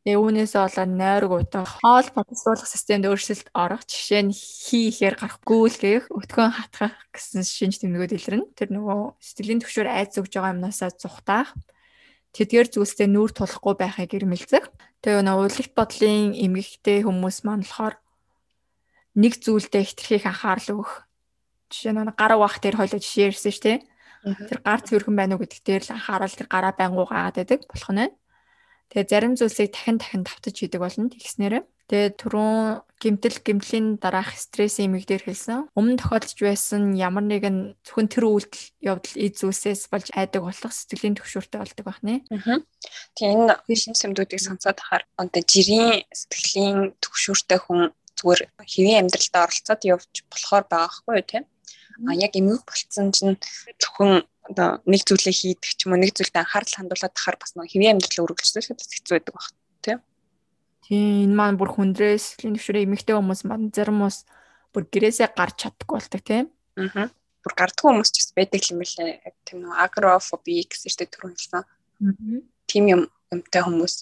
Тэгээ үүнээсээ болоод нойрог утах, хоол боловсруулах системд өөрчлөлт орох, жишээ нь хийхээр гарах, гүйлгэх, өтгөн хатгах гэсэн шинж тэмдгүүд илэрнэ. Тэр нөгөө сэтгэлийн түвшүүр айц өгж байгаа юмнасаа зүхтаах, тэдгээр зүйлстэй нүүр тулахгүй байхыг ирмэлзэх. Тэгээ нөгөө уйлгт бодлын эмгэгтэй хүмүүс маань болохоор нэг зүйлдээ хитрхийх анхаарал өгөх. Жишээ нь гараа угаах дээр хоёлоо жишээ ярьсан шүү дээ. Тэр гар цэвэрхэн байна уу гэдэг дээр л анхаарал тэр гараа байнгуу гаагаад байдаг болох нь. Тэгээ зарим зүйлсийг дахин давтаж хийдэг болно тэгснээрээ. Тэгээ түрүүн гэмтлийн дараах стрессийн эмэг дээр хэлсэн. Өмнө тохиолдож байсан ямар нэгэн зөвхөн тэр үйлдэл явдал эд зүйлсээс болж айдаг болох сэтгэлийн түвшүүртэй болдог байна. Тэгээ энэ шинж тэмдгүүдийг сонсоод ахаар одоо жирийн сэтгэлийн түвшүүртэй хүн зүгээр хэвийн амьдралдаа оролцоод явж болохоор байгаа хгүй тийм. Яг эмэг болцсон чинь зөвхөн одоо нэг зүйлээ хийдэг ч юм уу нэг зүйлд анхаарал хандуулаад тахаар бас нэг хэвийн амьдралаа үргэлжлүүлэхэд хэцүү байдаг баг тийм. Тийм энэ маань бүр хүндрээс сэтгэлийн түвшүүрээ эмэгтэй хүмүүс маань зарим хүмүүс бүр гэрээсээ гарч чаддаггүй болдог тийм. Бүр гардгүй хүмүүс ч бас байдаг юм лээ. Тийм нөө агрофоби гэсэн чинь түрүүн хэлсэн. Тийм юмтай хүмүүс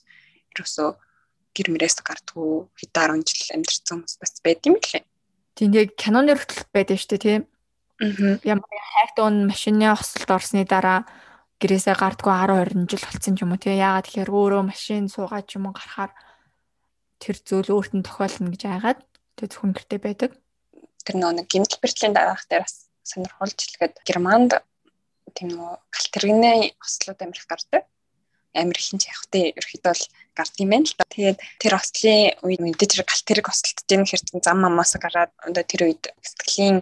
ерөөсөө гэр мөрөөс гардгүй хэд 10 жил амьдэрсэн хүмүүс бас байд юм лээ. Тийм яг киноны хүртэл байдаг шүү дээ тийм. Ямар хайртун машины хослолд орсны дараа гэрээсээ гардгүй 10 20 жил болсон ч юм уу тийм. Яагаад тэгэхээр өөрөө машин суугаад ч юм уу гарахаар тэр зүйл өөрт нь тохиолно гэж айгаад тэг зөвхөн гэртээ байдаг. Тэр нэг гэмтэл бэртлийн дараах дээр бас сонирхолж хэлгээд Германд тийм нөгөө галт тэрэгний ослууд амирх гардаг. Амир ихэнх явахтай ерөөхдөө бол гард юм байна л та. Тэгээд тэр ослын үед мэдээж тэр галт тэрэг ослолтож ийм хэрэг зам амаас гараад одоо тэр үед сэтгэлийн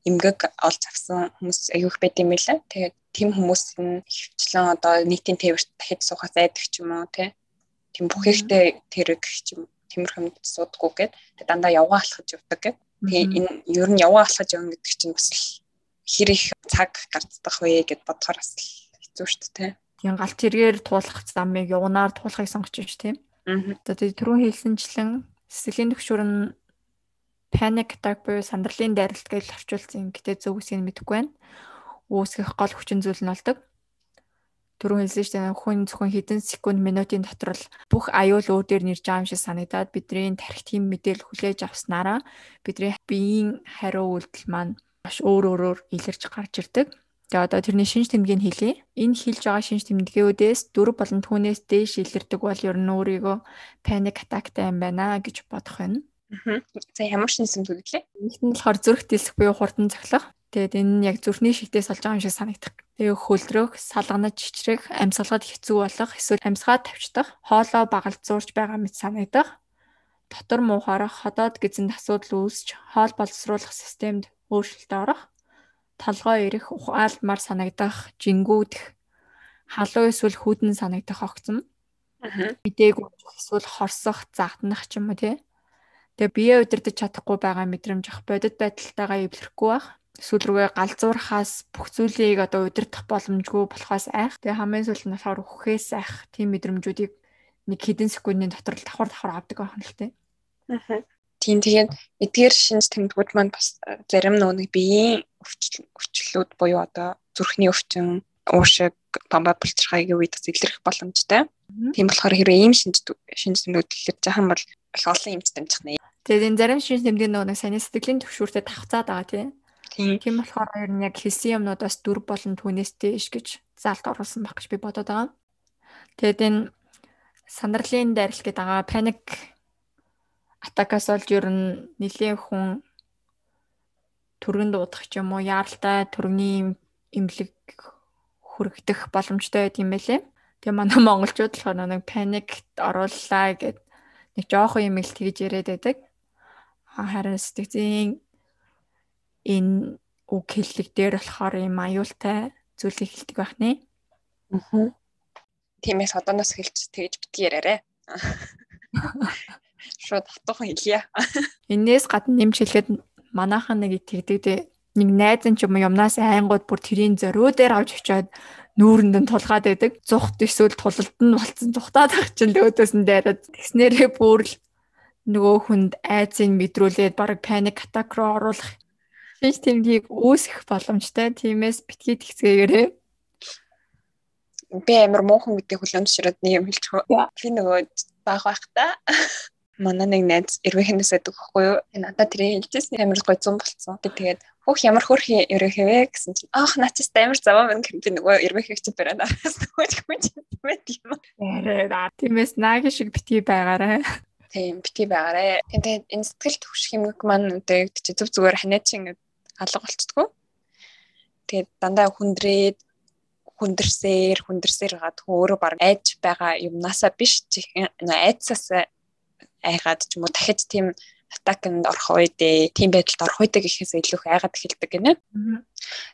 эмгэг олж авсан хүмүүс аюух байд юм байлаа. Тэгээд тийм хүмүүс нь хөвчлэн одоо нийтийн тээвэрт дахиж суухаас айдаг ч юм уу тийм бүх ихтэй тэрэг ч юм тиймэрхэмд суудаггүйгээд тэгээд дандаа явгаа алхаж явдаг гэдэг. Тэгээ энэ ер нь явгаа алхаж явна гэдэг чинь бас хэр их цаг гардах вэ гэд бодохоор бас хэцүү шүү дээ. Тийм галт тэргээр туулах замыг явнаар туулахыг сонгож байна шүү тийм. Одоо тэр түрүүн хэлсэнчлэн сэтгэлийн түвшүүр нь panic attack буюу сандралын дайралт гэж орчуулсан. Гэтэ зөв үсгийг мэдэхгүй байна. Үүсгэх гол хүчин зүйл нь болдог. Түрүүн хэлсэн шүү дээ. Хүн зөвхөн хэдэн секунд минутын дотор л бүх аюул өөр дээр нэрж байгаа юм шиг санагдаад бидний тархи тийм мэдээлэл хүлээж авснараа бидний биеийн хариу үйлдэл маань маш өөр өөрөөр илэрч гарч ирдэг. Тэгээ одоо тэрний шинж тэмдгийг хэлье. Энэ хэлж байгаа шинж тэмдгүүдээс 4 болон түүнээс дээш илэрдэг бол ер нь өөрийгөө panic attackтай юм байна гэж бодох байна. За ямар шинж тэмдэг лээ? Нэгт нь болохоор зүрх дэлсэх буюу хурдан цохилох. Тэгээд энэ нь яг зүрхний шигтээс олж байгаа юм шиг санагдах. Тэгээ хөлдрөх, салганаж чичрэх, амьсгалахад хэцүү болох, эсвэл амьсгаа тавьчихдах, хоолоо багалзуурч байгаа мэт санагдах. Дотор муухаарах, ходоод гэзэнд асуудал үүсч, хоол боловсруулах системд өөрчлөлт орох. Толгой ирэх, ухаалмар санагдах, жингүүдэх, халуун эсвэл хүдэн санагдах огцом. Мэдээгүй эсвэл хорсох, загтнах ч юм уу тий. Тэгээ бие удирдах чадахгүй байгаа мэдрэмж ах бодит байдалтайгаа эвлэрэхгүй байх. Эсвэл рүүгээ галзуурхаас бүх зүйлийг одоо удирдах боломжгүй болохоос айх. Тэгээ хамгийн сүүлд нь болохоор үхээс айх. Тийм мэдрэмжүүдийг нэг хэдэн секундын дотор давхар авдаг байх нь л тий. Тийм тэгээд эдгээр шинж тэмдгүүд маань бас зарим нэг биеийн өвчлөлүүд буюу одоо зүрхний өвчин, уушиг, бамбар булчирхайгийн үед бас илэрх боломжтой. Тийм болохоор хэрвээ ийм шинж тэмдгүүд илэрж байгаа юм бол их олон эмч дамжих нэ. Тэгээд энэ зарим шинж тэмдгийн нэг сайн сэтгэлийн төвшүүртэй давхцаад байгаа тийм болохоор ер нь яг хэлсэн юмнуудаас 4 болон түүнээс дээш гэж заалт оруулсан байх гэж би бодоод байгаа. Тэгээд энэ сандралын дайралт гэдэг байгаа паник атакаас олж ер нь нэлийн хүн түргэн дуудах ч юм уу яаралтай түргэний эмнэлэг хүрэгдэх боломжтой байт юм байлээ. Тэгээ манай монголчууд болохоор нэг паникт орууллаа гэд нэг жоохон юм л тэгж яриад байдаг. Харин сэтгцийн энэ үг хэллэг дээр болохоор юм аюултай зүйлийг хэлдэг байх нэ. Тиймээс одооноос хэлж тэгж битгий яриарэ. Шууд хатуухан хэлье. Энээс гадна нэмж хэлэхэд манайхан нэг тэгдэг нэг найз нь ч юм юмнаас айнгууд бүр тэрийн зориу дээр авч очиод нүүрэнд нь тулгаад байдаг. Зүхт эсвэл тулалд нь болцсон зүхтаад ах чинь өөдөөс нь дайраад тэгснээрээ бүр л нөгөө хүнд айцыг мэдрүүлээд баг паник атак руу оруулах шинж тэмдгийг үүсгэх боломжтой. Тиймээс битгий тэгцгээгээрээ. Би амар муухан гэдэг хүлэмж ширээд нэг юм хэлчихв. Би нөгөө баг байхдаа манай нэг найз эрвэхнээс байдаг байхгүй юу? Надад тэрийг хэлжсэн амар гой 100 болцсон. Би тэгээд хөх ямар хөрхи ерөөхөө гэсэн чинь аах нацаас амар заваа мэн гэх би нөгөө эрвэхийг чи бараад араас нөгөөч хүн мэд юм. Тиймээс нааги шиг битгий байгаарай. Тийм битгий байгаарай. Тэгээд энэ сэтгэл төвших юмг маань одоо чи зүг зүгээр ханиачин алга болцдгоо. Тэгээд дандаа хүндэрсээр гад өөрөө баг айж байгаа юмнасаа биш айцсаас айгаад ч юм уу дахиж тийм атаканд орох үедээ тийм байдалд орох үедээ гэхээс илүү их айгаад эхэлдэг гинэ.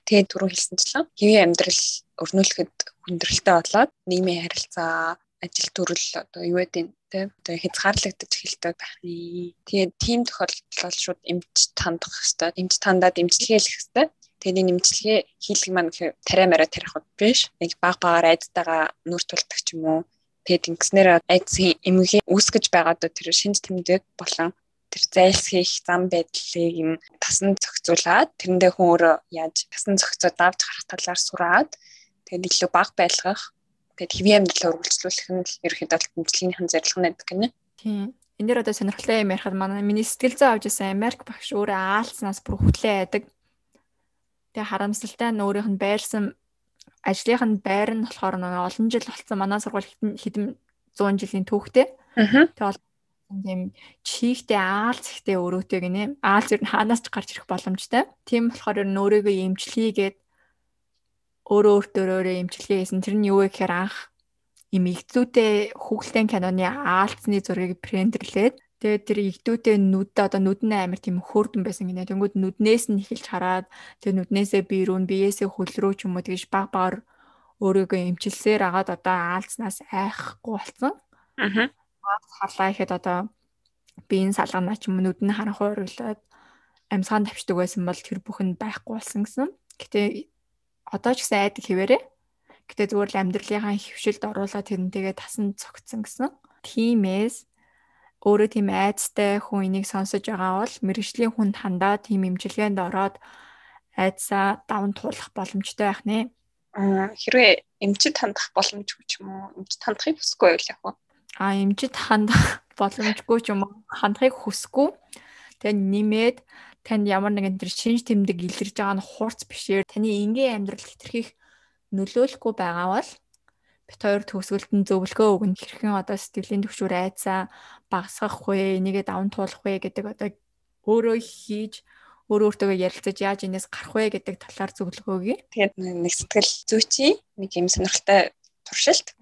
Тэгээд түрүү хэлсэнчлэн хэвийн амьдрал өрнүүлэхэд хүндрэлтэй болоод нийгмийн харилцаа, ажил төрөл одоо юу гэдэг те одоо хязгаарлагдаж эхэлдэг байна. Тэгээд тийм тохиолдолд бол шууд эмч тандах хэрэгтэй. Эмч тандаад эмчилгээ хийх хэрэгтэй. Тэгээд энэ эмчилгээ хийлгэх маань тариа мараа тарих биш. Нэг баг айдтайгаа нүр тулдаг ч юм уу. Тэгээд ингэснээр айдсын эмгэгийн үүсгэж байгаа доо тэр шинж тэмдэг болон тэр зайлсхийх зам байдлыг юм тасан зохицуулаад тэрэндээ хүн өөрөө яаж тасан зохицоод давж гарах талаар сураад тэгээд илүү баг байлгах тэгээд хэвийн амьдралаа үргэлжлүүлэх нь ерөөхдөө эмчилгээнийхэн зорилго байдаг гэнэ. Тийм. Энэ дэр одоо сонирхолтой юм ярихад манай миний сэтгэл зүй авч ирсэн Америк багш өөрөө аалцнаас бүр хөтлөө байдаг. Тэгээ харамсалтай нь өөрийнх нь байрсан ажлынх нь байр нь болохоор олон жил болсон манай сургууль хэдэн 100 жилийн түүхтэй. Тэгээд тийм чихтэй аалц ихтэй өрөөтэй гинэ. Аалц ер нь хаанаас ч гарч ирэх боломжтой. Тийм болохоор ер нь өөрийгөө эмчлэгээд өөрөө эмчилгээ хийсэн. Тэр нь юу вэ гэхээр анх им игдүүтэй хүүхэлдэйн киноны аалцны зургийг принтерлээд тэгээд тэр игдүүтэй одоо нүд нь амар тийм хөөрдөн байсан гинэ. Тэнгүүд нүднээс нь эхэлж хараад тэгээд нүднээсээ биеэсээ хөл рүү ч юм уу тэгж баг өөрийгөө эмчилсээр агаад одоо аалцнаас айхгүй болсон. Аалц харлаа гэхэд одоо биеийн салганаа ч юм уу нүд нь харанхуй уриглаад амьсгаан тавьчихдаг байсан бол тэр бүхэнд байхгүй болсон гэсэн. Гэтэ одоо ч гэсэн айдаг хэвээрээ. Гэтэ зүгээр л амьдралынхаа хөвшилд оруулаад тэрнтэйгээ тасан цогцсон гэсэн. Тиймээс өөрөө тийм айцтай хүн энийг сонсож байгаа бол мэргэжлийн хүнд хандаад тийм эмчилгээнд ороод айцаа даван туулах боломжтой байх нэ. Хэрвээ эмчид хандах боломжгүй ч юм уу эмчид хандахыг хүсэхгүй байл яг уу. Эмчид хандах боломжгүй ч юм уу хандахыг хүсэхгүй. Тэгээ нэмээд танд ямар нэгэн тэр шинж тэмдэг илэрж байгаа нь хурц бишээр таны энгийн амьдрал хэтэрхийх нөлөөлөхгүй байгаа бол бит хоёр төгсгөлд нь зөвлөгөө өгнө. Хэрхэн одоо сэтгэлийн түвшүүр айцаа багасгах вэ, энийгээ даван туулах вэ гэдэг одоо өөрөө хийж өөртөө ярилцаж яаж энэс гарах вэ гэдэг талаар зөвлөгөө өгье. Тэгээд нэг сэтгэл зүйчийн нэг юм сонирхолтой туршилт.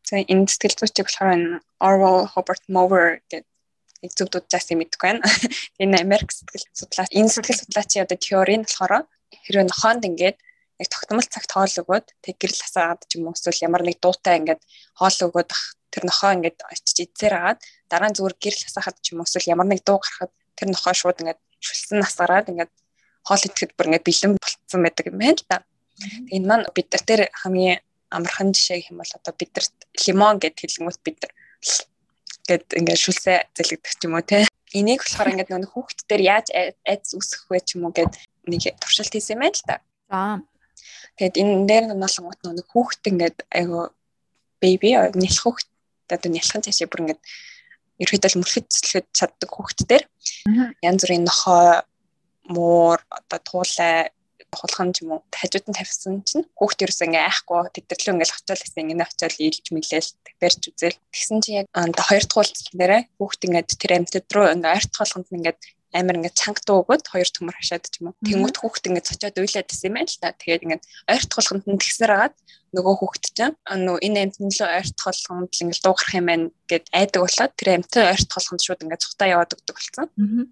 За энэ сэтгэл зүйчийг болохоор Orwell Robert Mower гэдэг нэг зөвдүүд заасан мэдгүй байна. Энэ Америк сэтгэл судлаач энэ сэтгэл судлаачийн одоо теори нь болохоор хэрвээ нохоонд ингээд яг тогтмол цагт хоол өгөөд тэг гэрэл хасаад ч юм уу эсвэл ямар нэг дуутай ингээд хоол өгөөд тэр нохоо ингээд очиж идсээр агаад дараа нь зүгээр гэрэл хасахад ч юм уу эсвэл ямар нэг дуу гарахад тэр нохоо шууд ингээд шүлсэн насгараад ингээд хоол идэхэд бүр ингээд бэлэн болцсон байдаг юм байна л да. Энэ маань бид нар тэр хамгийн амархан жишээ гэх юм бол одоо бид нар лимон гэд хэлэнгүүт бид нар гэд ингээд шүлсээ зэлгдэг ч юм уу те. Энийг болохоор ингээд нэг хүүхэд дээр яаж айц үсгэх вэ ч юм уу гэд нэг туршилт хийсэн юм байна л да. За. Тэгэд энэ дээр нуулангууд нэг хүүхэд ингээд айгу беби нялх хүүхэд одоо нялхан цаашаа бүр ингээд ерөөдөл мөрөхөд цэцлэхэд чаддаг хүүхэд дээр янз бүрийн нохоо муур одоо туулай хулхан ч юм уу хажууд нь тавьсан чинь хүүхд ерөөсөө ингээ айхгүй тэдэрлөө ингээл очиод гэсэн ингээ очиод ийлж мэлээл барьж үзэл тэгсэн чинь яг хоёр дахь уулзалт нэрэ хүүхд ингээд тэр амьтад руу ингээ ойрт толгонд ингээд амар ингээд чанга дуу өгөөд хоёр төмөр хашаад ч юм уу тэнгууд хүүхд ингээд цочоод уйлаад исэн юм байна л та. Тэгээд ингээд ойрт толгонд нь тэгсээр агаад нөгөө хүүхд чинь нөгөө энэ амьтанд л ойрт толгонд л ингээд дуу гарах юм байна гэд айдаг болоод тэр амьтад ойрт толгонд шууд ингээд цухтаа яваад өгдөг болсон.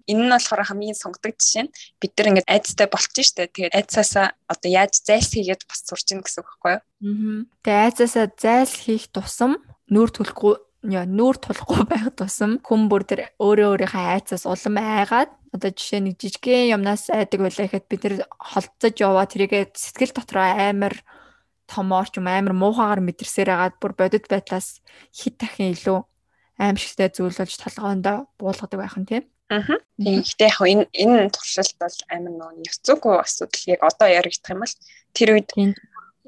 Энэ нь болохоор хамгийн сонгодог жишээ нь бид нар ингээд айцтай болчих штэ. Тэгээд айцаасаа одоо яаж зайлс хийгээд бас сурч ийн гэсэн үг байхгүй юу? Тэгээд айцаасаа зайлс хийх тусам нүүр тулахгүй байх тусам хүн бүр тэр өөрийнхөө айцаас улам айгаад одоо жишээ нэг жижигхэн юмнаас айдаг байлаа гэхэд бид нэр холцож яваа тэрийгээ сэтгэл дотроо амар томоор ч юм амар муухагаар мэдэрсээр агаад бүр бодит байдлаас хит дахин илүү аимшигтай зүйл болж толгоондоо буулгадаг байх нь тийм. Тийм. Гэтэ яг энэ туршилт бол амар нөө ёс зүйгүй асуудал яг одоо яригдах юм бол тэр үед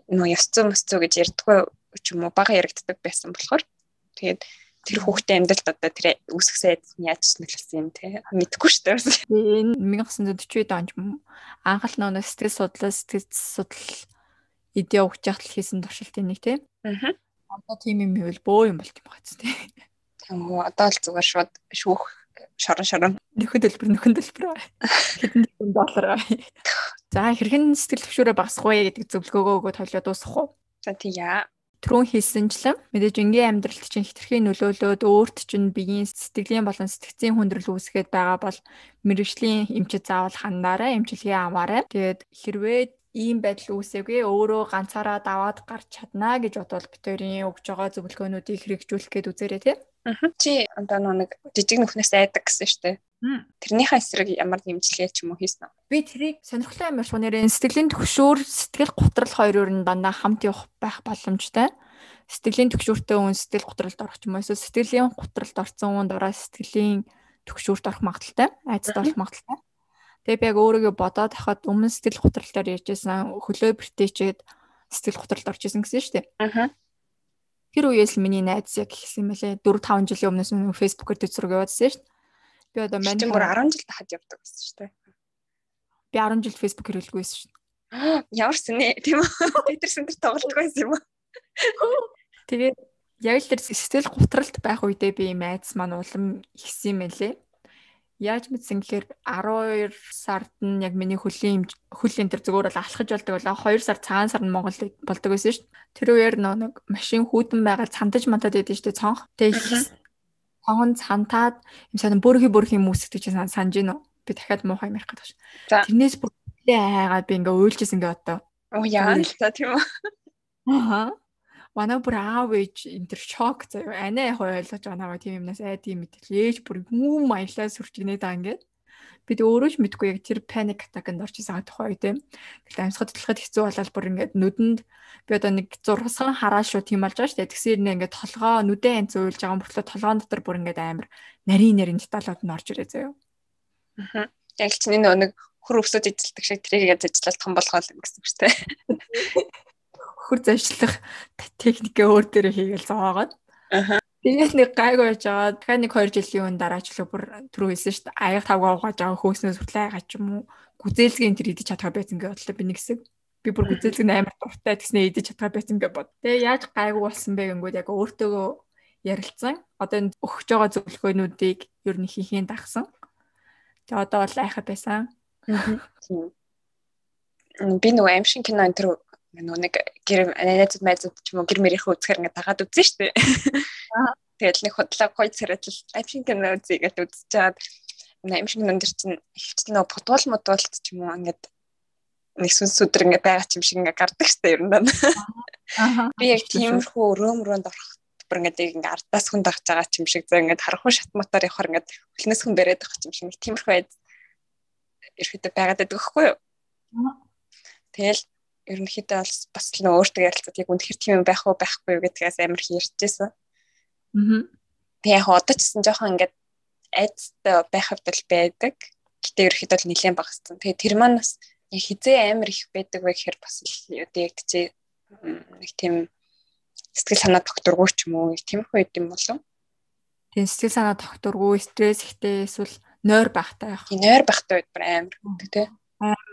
нөө ёс зүй мэс зүй гэж ярьдаггүй ч юм уу бага яригддаг байсан болохоор тэгээд тэр хүүхдийн амьдралд одоо тэр үсгсэн айдас нь яаж нөлөөлсөн юм те мэдэхгүй шүү дээ. Энэ 1940 онд анхал нөө сэтгэл судал идея өгч яхад хийсэн туршилтын нэг тийм. Одоо тийм юм ивэл бөө юм болт юм байна тийм. Тэгмээ одоо л зүгээр шууд шүүх шорон нөхөн төлбөр хэдэн $100. За хэрхэн сэтгэл төвшөөрөө багасгах вэ гэдэг зөвлөгөөгөө өгөөд хойлоо дуусгах уу? За тийя. Түрүүн хэлсэнчлэн мэдээж энгийн амьдралд чинь хитрхийн нөлөөлөөд өөрт чинь биеийн сэтгэлийн болон сэтгцийн хүндрэл үүсгээд байгаа бол мэрэгжлийн эмчит заавал хандаарай, эмчилгээ аваарай. Тэгээд хэрвээ ийм байдал үүсээгүй өөрөө ганцаараа даваад гарч чадна гэж бодвол бид хоёрын өгж байгаа зөвлөгөөнүүдийг хэрэгжүүлэх гээд үзээрэй тий. Чи одоо нэг жижиг нүхнээс айдаг гэсэн шүү дээ. Тэрнийхээ эсрэг ямар дэмжлэг ч юм уу хийсэн үү? Би тэрийг сонирхолтой юм шиг нэрээ сэтгэлийн төгшөөр сэтгэл готрол хоёр өөр нь дандаа хамт явах байх боломжтой. Сэтгэлийн төгшөөртэй хүн сэтгэл готролд орох юм эсвэл сэтгэлийн готролд орсон хүн дараа сэтгэлийн төгшөөрт орох магадaltaй, айцад орох магадaltaй. Тэгээ би яг өөрийгөө бодоод хахад өмнө сэтгэл готролоор ярьжсэн хөлөө бэртээчээд сэтгэл готролд орж исэн гэсэн шүү дээ. Тэр үеэс л миний найз яг гисэн юм байлээ. 4-5 жилийн өмнөөс Facebook-оор төцрөг яваадсэн шүү дээ. Би одоо мань бүр 10 жил тахад явдаг гэсэн шүү дээ. Би 10 жил Facebook хэрэглэгүй байсан шүү дээ. Ямар сүнэ тийм үү? Питерсэн тэр тоглож байсан юм уу? Тэгээд яг л тэр сэтгэл готролд байх үедээ би найз маань улам ихсэн юм байлээ. Яаж мэдсэн гэхээр 12 сард нь яг миний хөлийн тэр зүгээр бол алхаж болдог байлаа. 2 сар цагаан сар нь Монгол болдог байсан шүү дээ. Тэр үеэр нэг машин хүүдэн байгаад цантаж мантаад байдсан шүү дээ цонх. Тэгээд цонхон цантаад юм сайн бүрхи юм үсгдэг чинь санаж гинөө. Би дахиад муухай юм ярих гэдэг ш. Тэрнээс бүр айгаад би ингээ уйлжсэн ингээ одоо. Оо яа л та тийм үү. Манай бүр аав ээж энэ төр шок заяа. Анаа яг ойлгож байгаа намайг тийм юмнаас айдын мэтэл ээж бүр юм аялаа сүрчгнээ даа ингээд. Бид өөрөө ч мэдгүй яг тэр паник атаканд орж исэн тухай тийм. Тэгэл амьсгал хөдлөхөд хэцүү болол бүр ингээд нүдэнд би одоо нэг зургасхан хараа шүү тийм болж байгаа шүү дээ. Тэгсээр нэ ингээд толгоо нүдэн янз уйлж байгаа мөртлөө толгоон дотор бүр ингээд амар нарийн деталууд нь орж ирээ заяа. Яг л чинь нэг хөр өвсөд эзэлдэг шиг тэрийг ажиллаад том болгоол гэсэн үг шүү дээ. Хөр зайшлах техникээ өөр дээрээ хийгээл зоогоод. Тэгээд нэг гайгүй байж байгаа. Дахиад нэг 2 жилийн өмнө дараачлаа бүр түрүү хэлсэн шүү дээ. Аяга тавгаа угааж байгаа хөөснөөс хүртэл аяга ч юм уу. Гүзээлгийн тэр идэж чадхаа байсан гэж бодлоо би нэг хэсэг. Би бүр гүзээлэг амар дуртай тэгснэ идэж чадхаа байсан гэж бод. Тэгээ яаж гайгүй болсон бэ гингүүд яг өөртөөгөө ярилцсан. Одоо энэ өгч байгаа зөвлөгөөнүүдийг ер нь хийхийн дагсан. Тэгээ одоо бол айхаа байсан. Би нөгөө аимшиг кино энэ төр нэг гэр найзууд майзууд ч юм уу гэр мэрийнхээ үзэхэр ингээд дагаад үзэн штэ. Тэгэл нэг худлаа гоё царайт аимшиг кино үзье гэж үзэж чаад аимшиг кинон дэр чинь ихвчлэн нөгөө путуул модуулт ч юм уу ингээд нэг сүнс өдр ингээд байгаа ч юм шиг ингээд гардаг штэ ер нь. Би яг тиймэрхүү өрөөмрөөнд орох бүр ингээд ардаас хүн дагж байгаа ч юм шиг зөө ингээд харахгүй шат мотор явахаар ингээд хөлнөөс хүн бариад байгаа ч юм шиг тиймэрхүү байд ерөөдөө байгаад байдаг байхгүй юу? Тэгэл ерөнхийдөө бас л нөө өөртөө ярилцаад яг үнэхээр тийм юм байх уу байхгүй юу гэдгээс амар ярьжсэн. Би яг одоо ч гэсэн жоохон ингээд айцтай байх хэвдэл байдаг. Гэтэ ерөнхийдөө л нэлээд багассан. Тэгээ тэр маань бас яг хизээ амар их байдаг вэ гэхээр бас л яг тэгжээ нэг тийм сэтгэл санаа докторгүй ч юм уу тиймэрхүү юм болов. Тийм сэтгэл санаа докторгүй стресс ихтэй эсвэл нойр багтай байх. Нойр багтай байд бүр амар гэдэг тий.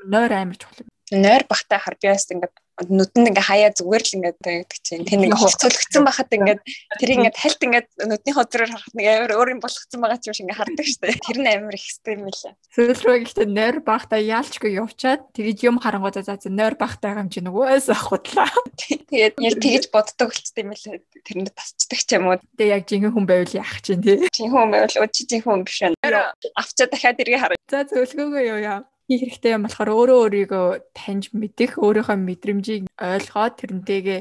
Нойр амар чухал. Нойр багтай харбиас ингээд нүдэнд ингээ хаяа зүгээр л ингээд байдаг чинь тэр нэг хувцуулагдсан байхад ингээд тэр ингээд хальт ингээд нүдний хоцроор харахад нэг амар өөр юм болгоцсон байгаа ч юм шиг ингээ хардаг штэ. Тэр нь амар их стрим мэлээ. Сүүл рүү гэхдээ нойр багтай яалчгүй явчаад тэгэж юм харангуудаа за нойр багтай юм чи нөгөөс ахудлаа. Тэгээд яг тэгэж боддог болчтой юм лээ. Тэрэнд тасчдаг ч юм уу. Тэгээ яг жинхэнэ хүн байвал яах чинь тий. Жинхэнэ хүн байвал өчи жинхэнэ хүн биш байна. Авчаа дахиад эргээ хараа. За зөвлөгөөгөө юу яа. Хийх хэрэгтэй юм болохоор өөрийгөө таньж мэдэх, өөрийнхөө мэдрэмжийг ойлгоод тэрнтэйгээ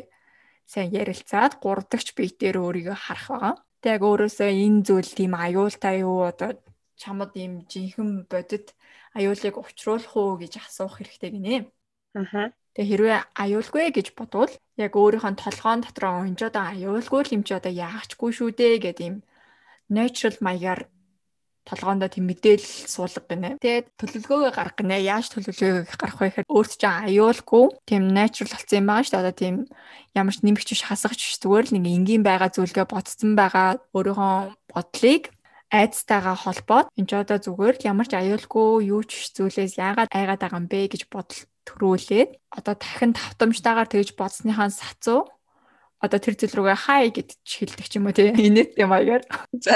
сайн ярилцаад гурдагч биетээр өөрийгөө харах байгаа. Тэг яг өөрөөсөө энэ зүйл тийм аюултай юу одоо чамд ийм жинхэнэ бодит аюулыг учруулах уу гэж асуух хэрэгтэй гинэ. Тэг хэрвээ аюулгүй гэж бодвол яг өөрийнхөө толгоон дотроо энэ ч одоо аюулгүй юм чи одоо яахчгүй шүү дээ гэдэг ийм natural маягаар толгоондоо тийм мэдээлэл суулга гинэ. Тэгээд төлөвлөгөөгөө гаргах гинэ. Яаж төлөвлөгөөгөө гаргах вэ гэхээр өөрт чинь аюулгүй тийм natural болсон юм байгаа шүү дээ. Одоо тийм ямар ч нэмэгч биш хасагч биш зүгээр л нэг энгийн байгаа зүйлгээ бодсон байгаа өөрийнхөө бодлыг айцтайгаа холбоод энэ ч одоо зүгээр л ямар ч аюулгүй юу ч зүйлээс яагаад айгаад байгаа юм бэ гэж бодол төрүүлээд одоо дахин тавтамжтайгаар тэгж бодсныхаа сацуу одоо тэр зүйл рүүгээ хай гэж хэлдэг ч юм уу тий. Инээдтэй маягаар. За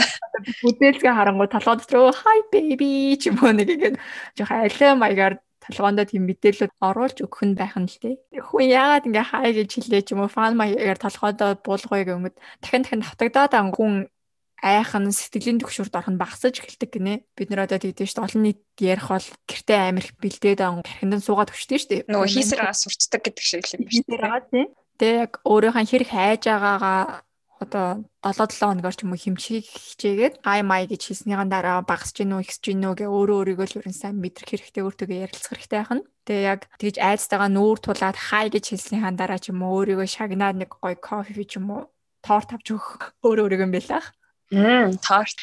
бүдээлгээ харангуй толгой дотор хай baby ч юм уу нэг ингэ жоох алей маягаар толгоондоо тийм мэдээлэл оруулж өгөх нь байх нь л тий. Хүн яагаад ингэ хай гэж хэлээ ч юм уу фан маягаар толгойдоо буулгая гэмэд дахин давтагдаад хүн айхан сэтгэлийн төвшөрт орох нь багасаж эхэлдэг гинэ. Бид нэр одоо тэгдэж шүү дээ. Олон нийт ярих бол гэртээ амир их бэлдээд гархинд суугаад өчтөө шүү дээ. Нөгөө хийсэрээ сурчдаг гэдэг шиг юм биш үү? Тэг яг өөрийнхөө хэрэг хайж байгаагаа одоо 7-7 хоногор ч юм уу хэмжих хичээгээд хай май гэж хэлснийхэн дараа багасч гинөө ихсэж гинөө гэ өөрөө л ерэн сайн мэдрэх хэрэгтэй өөртөө ярилцах хэрэгтэй байна. Тэг яг тэгж айцтайгаа нүүр тулаад хай гэж хэлснийхэн дараа ч юм уу өөрийгөө шагнаад нэг гоё кофе ч юм уу торт авч өгөх өөрийгөө юм байлаа. Торт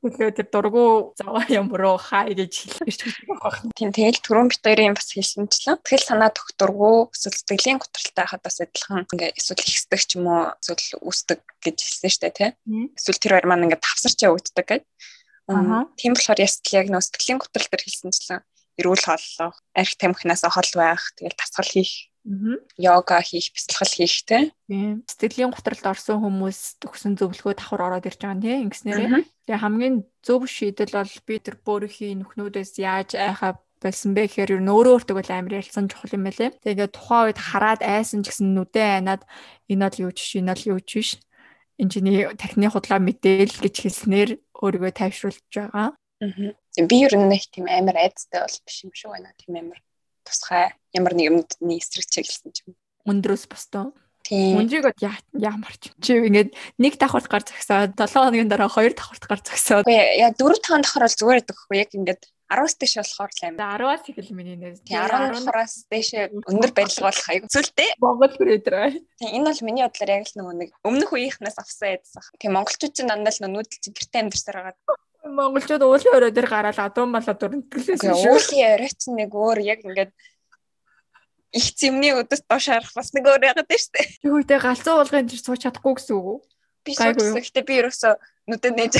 төлөө тэр дургу заваа юм руу хай гэж хэлж байгаа. Тийм тэгэл түрүүн бит хоёрын бас хэлсэнчлээ. Тэгэл санаа докторгүй эсвэл сэтгэлийн готролтой хахад бас адилхан ингээ эсвэл ихсдэг ч юм уу эсвэл үүсдэг гэж хэлсэн шүү дээ тий. Эсвэл тэр хоёр маань ингээ тавсарч явагддаг гэж. Тийм болохоор ястал яг нөө сэтгэлийн готрол төр хэлсэнчлээ. Эрүүл хооллох, арх тамхинаас хол байх, тэгэл тасгал хийх. Йога хийх, бясалгал хийх те. Сэтгэлийн готролд орсон хүмүүс төгсөн зөвлөгөө давхар ороод ирж байгаа тийм ингэснээрээ. Тэгээ хамгийн зөв шийдэл бол би тэр өөрийнхөө нүхнүүдээс яаж айхаа болсон бэ гэхээр ер нь өөртөө л амар ярилцсан чухал юм байлээ. Тэгээ тухайн үед хараад айсан ч гэсэн нүдэн айнаад энэ бол юу ч энэ бол юу ч биш. Энэ чиний тархины худлаа мэдээлэл гэж хэлснээр өөрийгөө тайвшруулж байгаа. Би ер нь нэг тийм амар айцтай бол биш юм шиг байна. Тийм амар тусгай ямар нэг юмны эсрэг чиглэсэн юм. Өндрөөс бостоо. Тийм. Өндрийг ямар ч. Чи ингээд нэг давхарт гар зогсоод 7 хоногийн дараа 2 давхарт гар зогсоод. Яа 4-5 давхар бол зүгээр байдаг хгүй яг ингээд 10-аас дээш болохоор л амар. 10-аас ихэл миний нэр. Тийм 10-аас дээш өндөр барилга болох аяг зүйлтэй. Монгол хүрээдрээ. Тийм энэ бол миний бодлоор яг л нөгөө нэг өмнөх үеийнхнээс авсан айдсах. Тийм монголчууд чинь дандаа л нүүдэл чинь гэрте амьдсаар байгаа. Монголчууд уулын өрөө дээр гараад адуун малаа дүрнтгэлээс шүү. Уулын өрөө чинь нэг өөр яг ингээд их зэмний өдөс доош харах бас нэг өөр яагаад дээ штэ. Тэгвэл галзуу уулгын дээр сууж чадахгүй гэсэн үг үү? Би суучихсан. Гэтэ би ерөөсөө нүдэд нээж.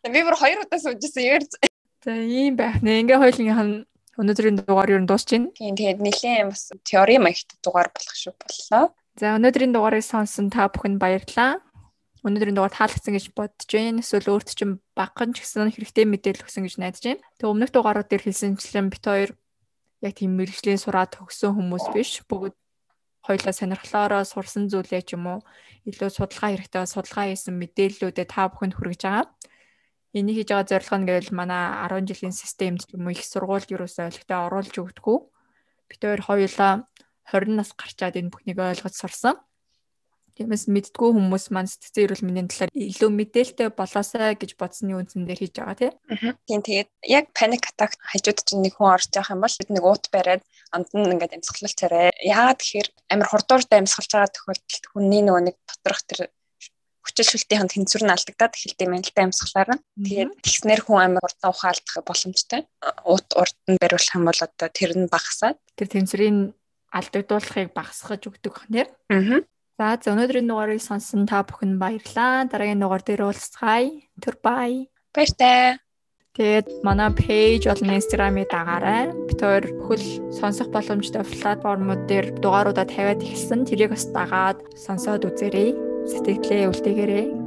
Би бүр 2 удаа суужсэн яар. За ийм байх нэ. Ингээ хоёулынх нь өнөөдрийн дугаар юу дуусч байна. Тийм тэгээд нэлээд бас теори маягт дугаар болох шүү боллоо. За өнөөдрийн дугаарыг сонсон та бүхэнд баярлалаа. Өнөөдрийн дугаар таалагдсан гэж бодож байна. Эсвэл өөрт чинь багхан ч гэсэн хэрэгтэй мэдээлэл өгсөн гэж найдаж байна. Тэг өмнөх дугаарууд дээр хэлсэнчлэн бит хоёр яг тийм мэргэжлийн сураад төгссөн хүмүүс биш. Бүгд хоёулаа сонирхлоороо сурсан зүйлээ ч юм уу илүү судалгаа хэрэгтэй судалгаа хийсэн мэдээллүүдэд та бүхэнд хүргэж байгаа. Энийг хийж байгаа зорилго нь гэвэл манай 10 жилийн системд ч юм уу их сургуульд юусоо ойлгохтой оруулж өгдөггүй. Бит хоёр хоёулаа 20 нас гарчаад энэ бүхнийг ойлгож сурсан. Тиймээс мэддгүү хүмүүс маань сэтгцэн эрүүл мэндийн талаар илүү мэдээлэлтэй болоосай гэж бодсны үндсэн дээр хийж байгаа тийм. Тийм тэгээд яг паник атак хажууд чинь нэг хүн орж явах юм бол нэг уут бариад амд нь ингээд амьсгалж царай. Яагаад тэгэхээр амар хурдууртай амьсгалж байгаа тохиолдолд хүний нөгөө нэг доторх тэр хүчилшүүлтийн тэнцвэр нь алдагдаад эхэлдэг юм л да амьсгалаар нь. Тэгээд тэгснэр хүн амар хурдан ухаалдах боломжтой. Уут урд нь бариулах юм бол одоо тэр нь багасаад тэр тэнцвэрийн алдагдуулахыг багасгаж өгдөг ханаар. За өнөөдрийн дугаарыг сонсон та бүхэн баярлалаа. Дараагийн дугаар дээр уулзцгаая. Түр бай. Баяртай. Тэгээд манай пэйж болон инстаграмыг дагаарай. Бид хоёр бүхэл сонсох боломжтой платформуд дээр дугааруудаа тавиад эхэлсэн. Тэрийг бас дагаад сонсоод үзээрэй. Сэтгэлээ үлдээгээрэй.